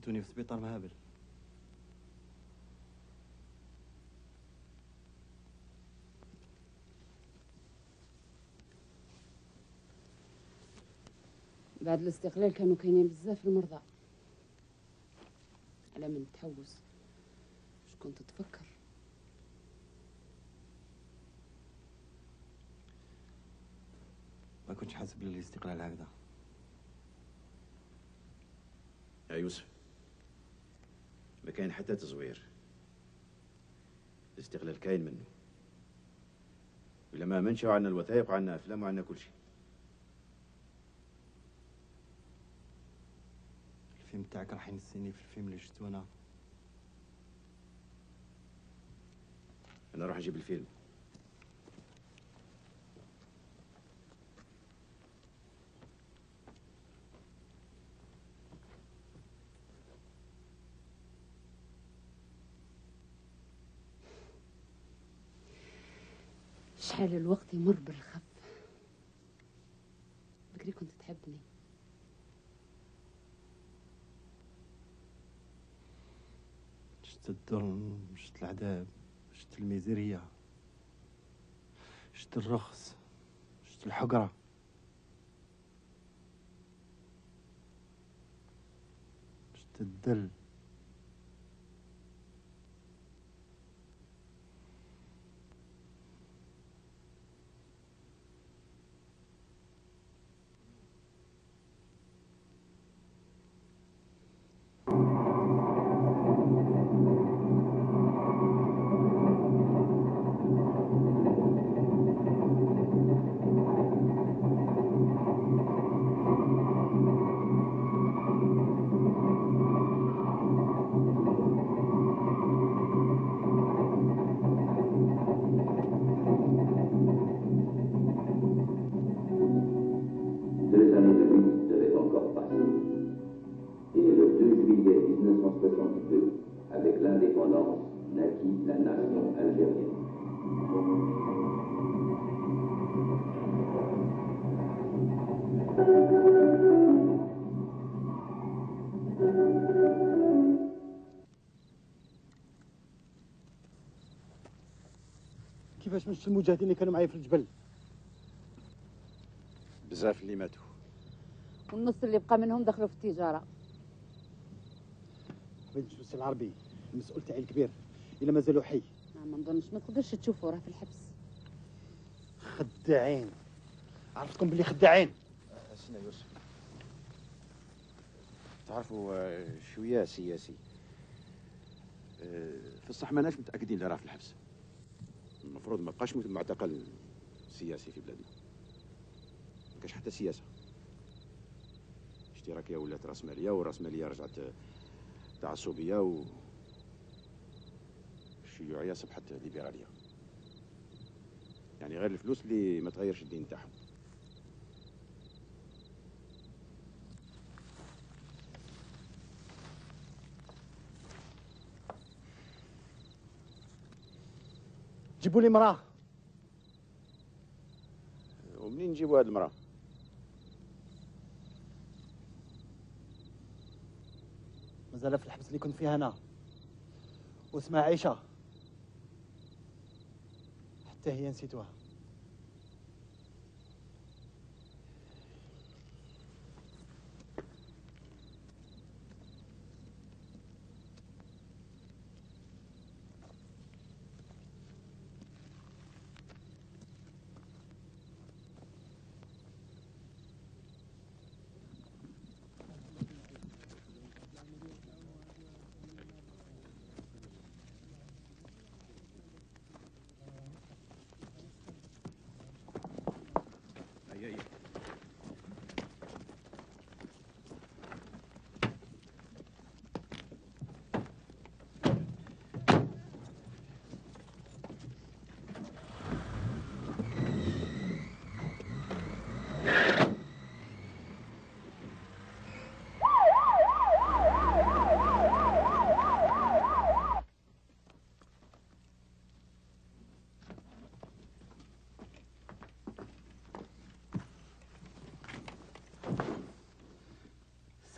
نسيتوني في سبيطار مهابل. بعد الاستقلال كانوا كاينين بزاف المرضى. على من تحوس واش كنت تفكر؟ ما كنتش حاسب بالاستقلال هكذا. يا يوسف ما كاين حتى تزوير. الاستقلال كاين منه. ولا ما منش عندنا الوثائق وعندنا افلام وعندنا كل شيء. الفيلم تاعك راح ينسيني في الفيلم اللي شفتو انا. انا راح نجيب الفيلم. شحال الوقت يمر بالخف. بكري كنت تحبني. شفت الظلم شفت العذاب في الميزيرية، شفت الرخص، شفت الحقرة، شفت الدل، Deux années de lutte devaient encore passer. Et le deux juillet mille neuf cent soixante-deux, avec l'indépendance, naquit la nation algérienne. كيفاش مشت المجاهدين اللي كانوا معايا في الجبل؟ بزاف اللي ماتوا. والنص اللي بقى منهم دخلوا في التجاره. بغيت نشوف السي العربي المسؤول تاعي الكبير الا مازالوا حي. ما نظنش ما تقدرش تشوفه راه في الحبس. خداعين، عرفتكم باللي خداعين. سيدنا يوسف، تعرفوا آه، شويه سياسي. آه، في الصح ماناش متاكدين اللي راه في الحبس. المفروض ما بقاش معتقل سياسي في بلادنا. ما كاش حتى سياسه. اشتراكيه ولات راسماليه، والراسماليه رجعت تعصبيه، و الشيوعيه صبحت ليبراليه. يعني غير الفلوس اللي ما تغيرش الدين تاعهم. جيبوا لي مراه. ومنين نجيبوا هاد المراه؟ مازال في الحبس اللي كنت فيها انا، واسمها عيشه، حتى هي نسيتوها.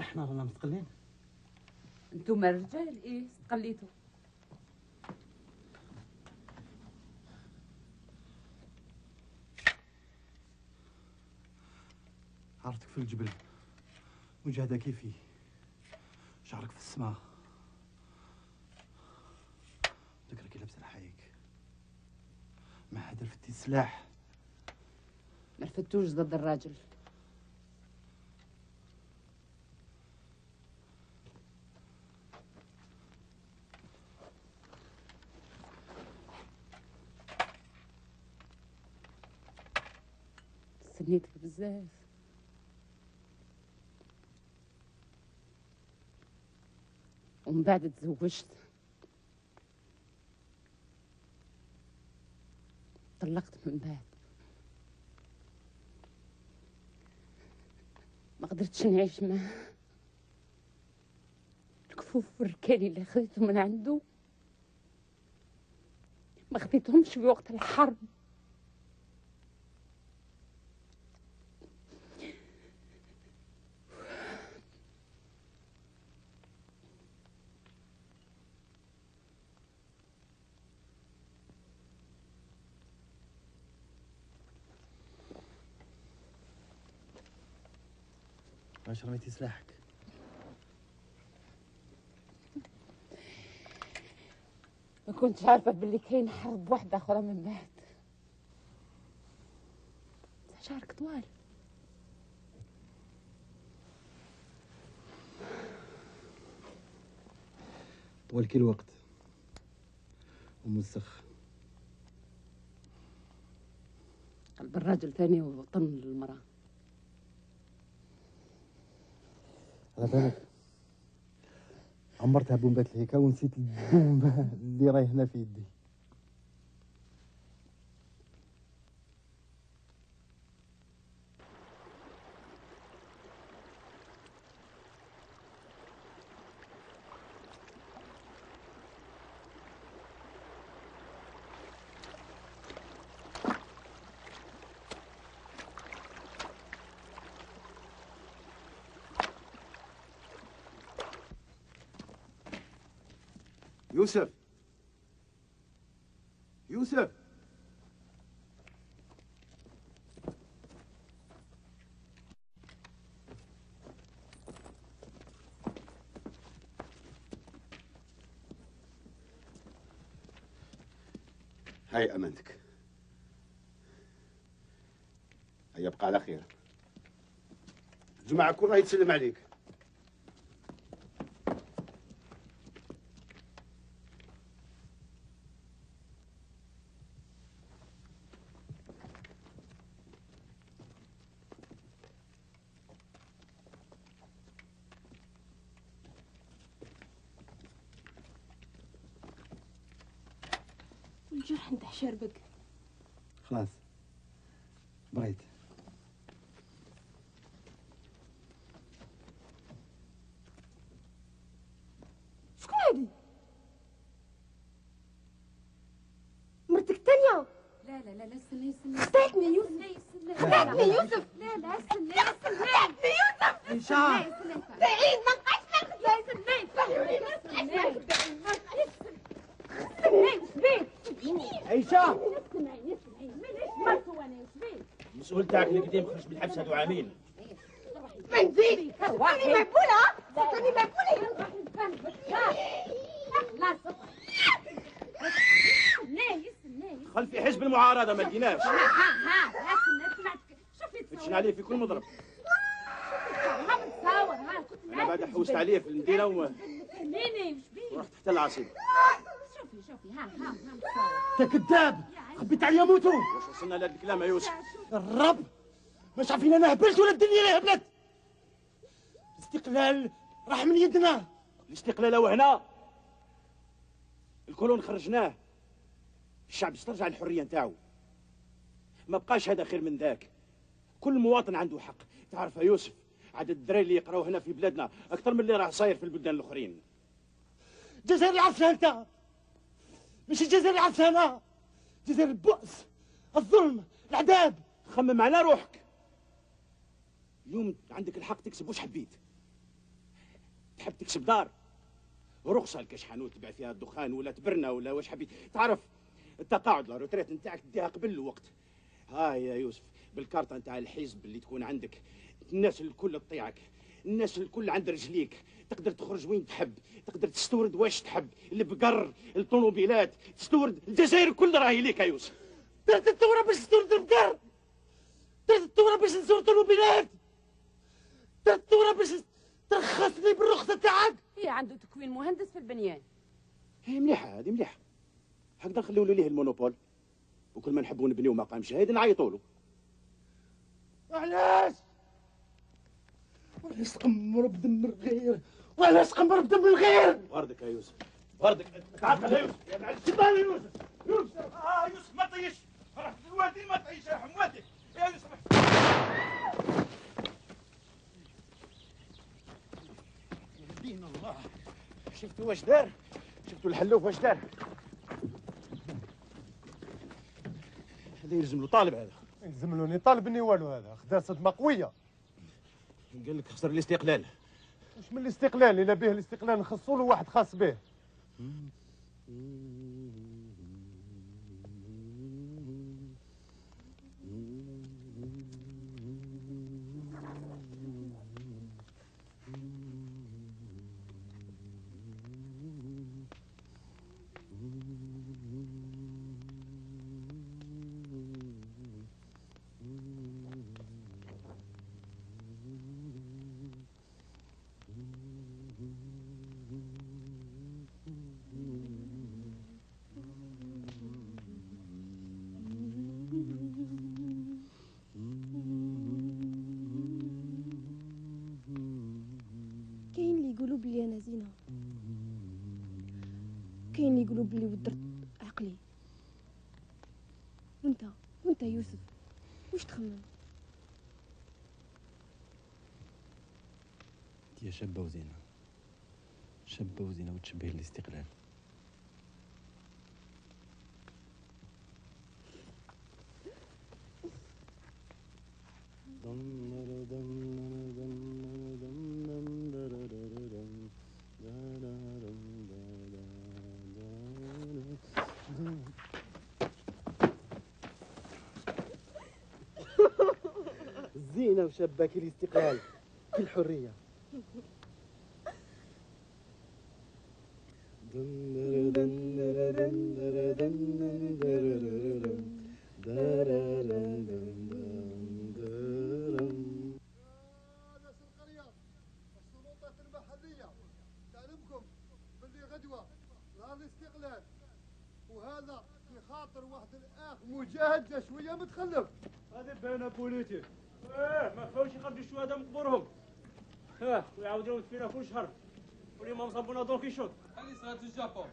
احنا رانا مستقلين. انتم الرجال ايه استقليتوا؟ عرفتك في الجبل، مجاهدة كيفي، شعرك في السماء، ذكرك لابس الحايك، ما حدا رفدتي السلاح. ما رفدتوش ضد الراجل. استنيتك بزاف. ومن بعد تزوجت، طلقت من بعد، ما قدرتش نعيش معاه. الكفوف والركالي اللي خذيتهم من عنده ما خذيتهمش في وقت الحرب. علاش رميتي سلاحك؟ ما كنتش عارفه باللي كاين حرب واحده اخرى من بعد. شعرك طوال. طول كل الوقت وموسخ. قلب الراجل ثاني وطن المرأة. على بالك عمرتها بومبات الهيكا ونسيت البومبة اللي راهي هنا في يدي. يوسف يوسف هاي امانتك. هيا ابقى على خير. الجماعه كلها يتسلم عليك. الجرح نتاع شربك. خلاص بريت. شكون هادي؟ مرتك الثانية؟ لا لا لا لا استنى استنى. خطيتني يوسف. خطيتني يوسف. لا لا استنى استنى. خطيتني يوسف. هشام. بعيد ما نبقاش ناخذ. لا استنى. هشام اسمعيني اسمعيني مانيش مرته وانا شبيك. المسؤول تاعك اللي قديم خرج من الحبس هادو عامين. ما نزيد صرتني مقبولة صرتني مقبولة. لا استنى استنى. دخل في حزب المعارضة ما لقيناش. ها ها ها استنى سمعتك. شوفي فتشنا عليه في كل مضرب. ها متصور ها كنت انا بعد حوست عليه في المدينة و... ميني وش بيه؟ ورحت حتى العاصمة. شوفي شوفي ها ها ها متصور. انت كذاب خبيت عليا موتو. واش وصلنا لهذا الكلام يا يوسف؟ الرب مش عارفين انا هبلت ولا الدنيا اللي هبلت. الاستقلال راح من يدنا. الاستقلال هو هنا. الكولون خرجناه. الشعب استرجع الحرية نتاعو. ما بقاش هذا خير من ذاك. كل مواطن عنده حق. تعرف يا يوسف عدد الدراري اللي يقراو هنا في بلادنا اكثر من اللي راه صاير في البلدان الاخرين. الجزائر اللي عرفتها انت مش الجزائر اللي عرفتها انا. الجزائر البؤس الظلم العذاب. خمم على روحك. اليوم عندك الحق تكسب واش حبيت. تحب تكسب دار رخصه الكشحانوت تبيع فيها الدخان ولا تبرنا ولا واش حبيت. تعرف التقاعد لا روتريت نتاعك تديها قبل الوقت. هاي يا يوسف بالكارطه نتاع الحزب اللي تكون عندك الناس الكل تطيعك. الناس الكل عند رجليك. تقدر تخرج وين تحب. تقدر تستورد واش تحب. البقر الطوموبيلات تستورد. الجزائر كل راهي ليك يا يوسف. درت الثوره باش تستورد البقر. درت الثوره باش نستورد الطوموبيلات. درت الثوره باش ترخصني بالرخصه تاعك. هي عنده تكوين مهندس في البنيان. هي مليحه هذه مليحه. هكذا نخليو له ليه المونوبول. وكل ما نحبوا نبنيو مقام شهيد نعيطوا له. علاش؟ وعلاش تقمر بدم الغير؟ وعلاش تقمر بدم الغير؟ بردك يا يوسف بردك. تعال يا يوسف يا معلم شبان يا يوسف. يوسف اه يوسف ما طيش. رحت الوالدين ما طيش يا حمواتك يا يوسف. يهدينا الله. شفتوا واش دار؟ شفتوا الحلوف واش دار؟ هذا يلزم له طالب. هذا يلزم له طالبني والو. هذا خدا صدمه قويه. قال لك خسر الاستقلال. واش من الاستقلال؟ الا به الاستقلال نخصوا له واحد خاص به. يقولوا بلي ودرت عقلي. وانت وانت يوسف واش تخمم؟ انت شابه وزينه، شابه وزينه وتشبه الاستقلال. زينة وشابة الاستقلال كل حرية. تعلمكم باللي غدوة نهار الاستقلال وهذا في خاطر واحد الاخ مجاهد جا شوية متخلف. هذه باينة بوليتي. ايه ما فاوش يخرجوا الشهداء من قبورهم. اه ويعاودوا يدفنوا كل شهر. واليوم مصابونا دون كيشوط. هذه صارت في الجابون.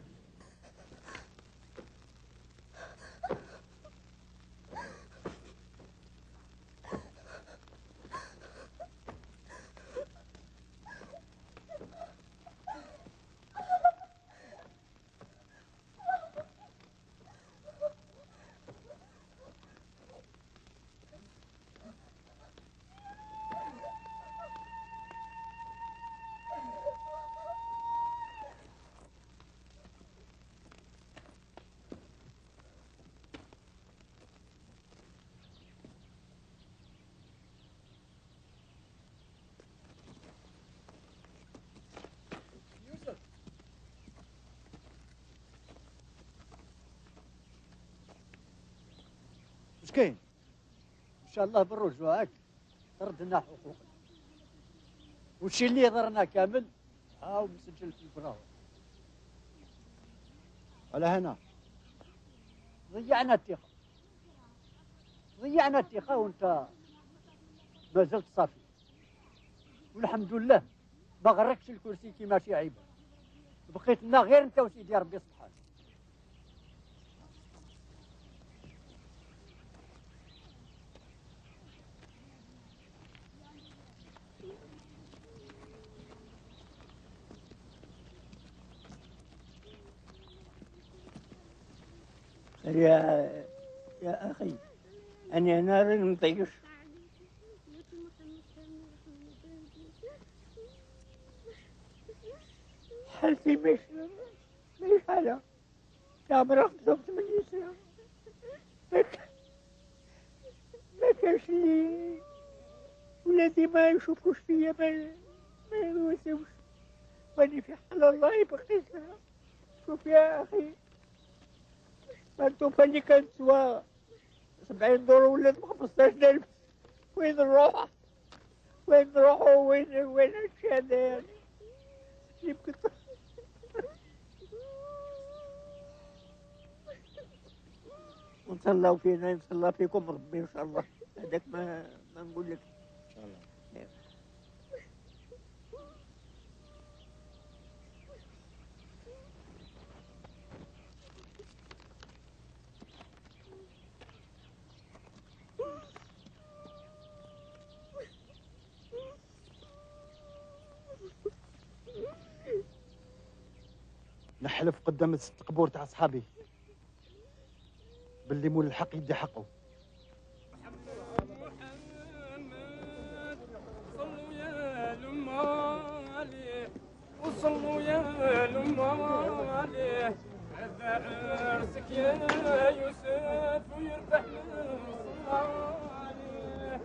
واش كاين؟ ان شاء الله بالرجوع هاك ردنا حقوقنا. والشي اللي ضرنا كامل هاو مسجل في البراوه. على هنا ضيعنا الثقه ضيعنا الثقه وانت ما زلت صافي. والحمد لله ما غركش الكرسي كيما شي عيبه. بقيت لنا غير انت وسيدي ربي سبحانه. يا يا أخي أنا نار المطيش. حالتي مش مش حالة. يا مرة خمسة وثمانين سنة ما ما كانش لي ولادي ما يشوفوش فيا ما ما يواسوش. واني في حال الله بقيت لها. شوف يا أخي التوفة اللي كانت سوا سبعين دور ولات بخمسطاش ألف. وين نروح؟ وين نروحوا؟ وين وين هادشي هذا يعني؟ يمكن ونتهلاو فينا يتهلا فيكم ربي ان شاء الله. هذاك ما ما نقول لك ان شاء الله. نحلف قدام الست قبور تاع صحابي باللي مول الحق يدي حقه. صلوا يا لما عليه وصلوا يا لما عليه. هذا عرسك يا يوسف ويربح من صلى عليه.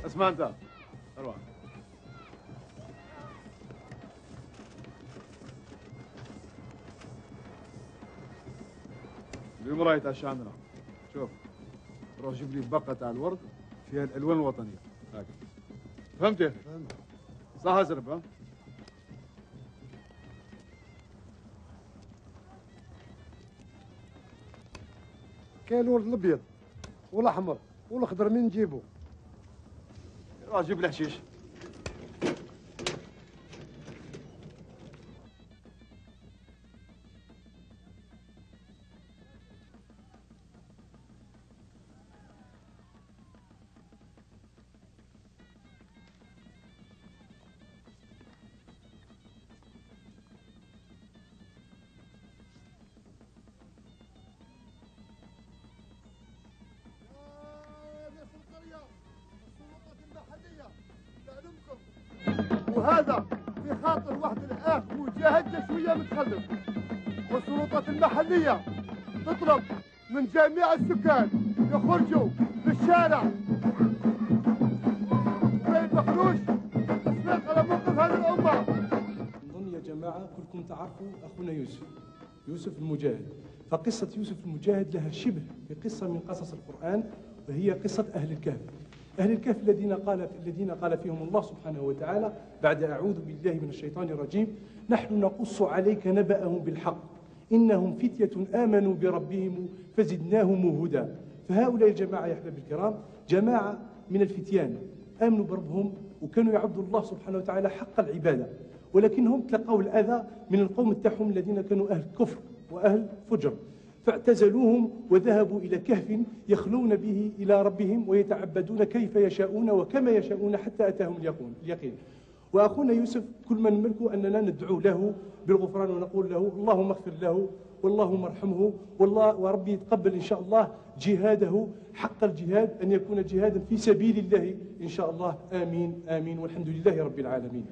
اسمع انت اروح. وين راهي تاع الشامله؟ شوف روح جيب لي باقه تاع الورد فيها الالوان الوطنيه هاك فهمتي؟ فهمت. صح ازرب ها؟ كاين الورد الابيض والاحمر والاخضر، من نجيبو؟ روح جيب لي حشيش. وهذا في خاطر واحد الاخ مجاهد شويه متخلف، والسلطات المحليه تطلب من جميع السكان يخرجوا للشارع ما يدخلوش تصفيق على موقف هذه الامه. نظن يا جماعه كلكم تعرفوا اخونا يوسف يوسف المجاهد، فقصه يوسف المجاهد لها شبه بقصه من قصص القران، وهي قصه اهل الكهف. أهل الكهف الذين قال الذين قال فيهم الله سبحانه وتعالى بعد أعوذ بالله من الشيطان الرجيم: نحن نقص عليك نبأهم بالحق إنهم فتية آمنوا بربهم فزدناهم هدى. فهؤلاء الجماعة يا أحباب الكرام جماعة من الفتيان آمنوا بربهم وكانوا يعبدوا الله سبحانه وتعالى حق العبادة، ولكنهم تلقوا الأذى من القوم تاعهم الذين كانوا أهل كفر وأهل فجر، فاعتزلوهم وذهبوا إلى كهف يخلون به إلى ربهم ويتعبدون كيف يشاءون وكما يشاءون حتى أتاهم اليقين. وأخونا يوسف كل ما نملكه أننا ندعو له بالغفران ونقول له اللهم اغفر له واللهم ارحمه والله وربي يتقبل إن شاء الله جهاده حق الجهاد، أن يكون جهادا في سبيل الله إن شاء الله. آمين آمين والحمد لله رب العالمين.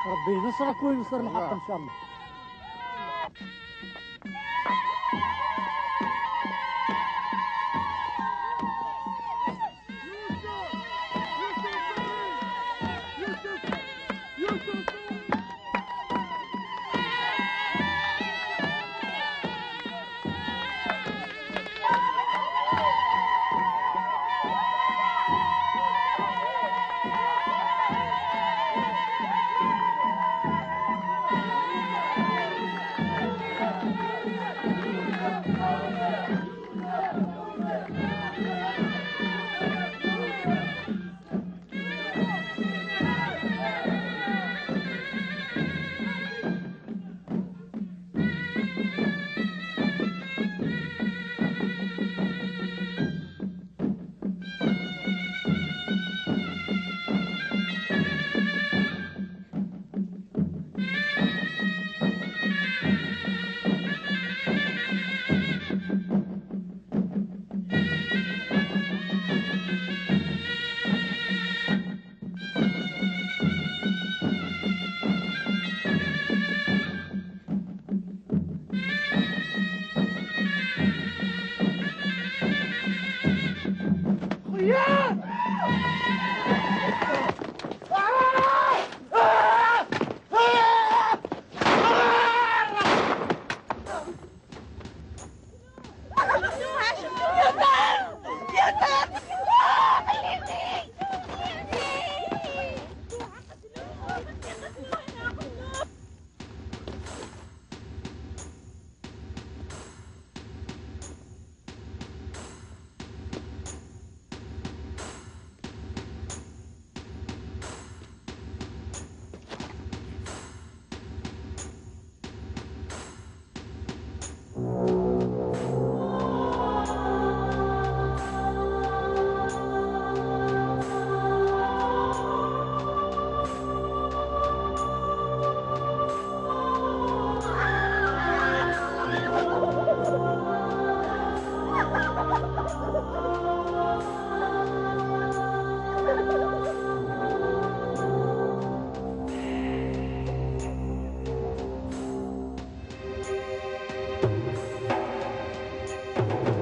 ربي ينصرك وينصر الحق ان شاء الله. Thank you.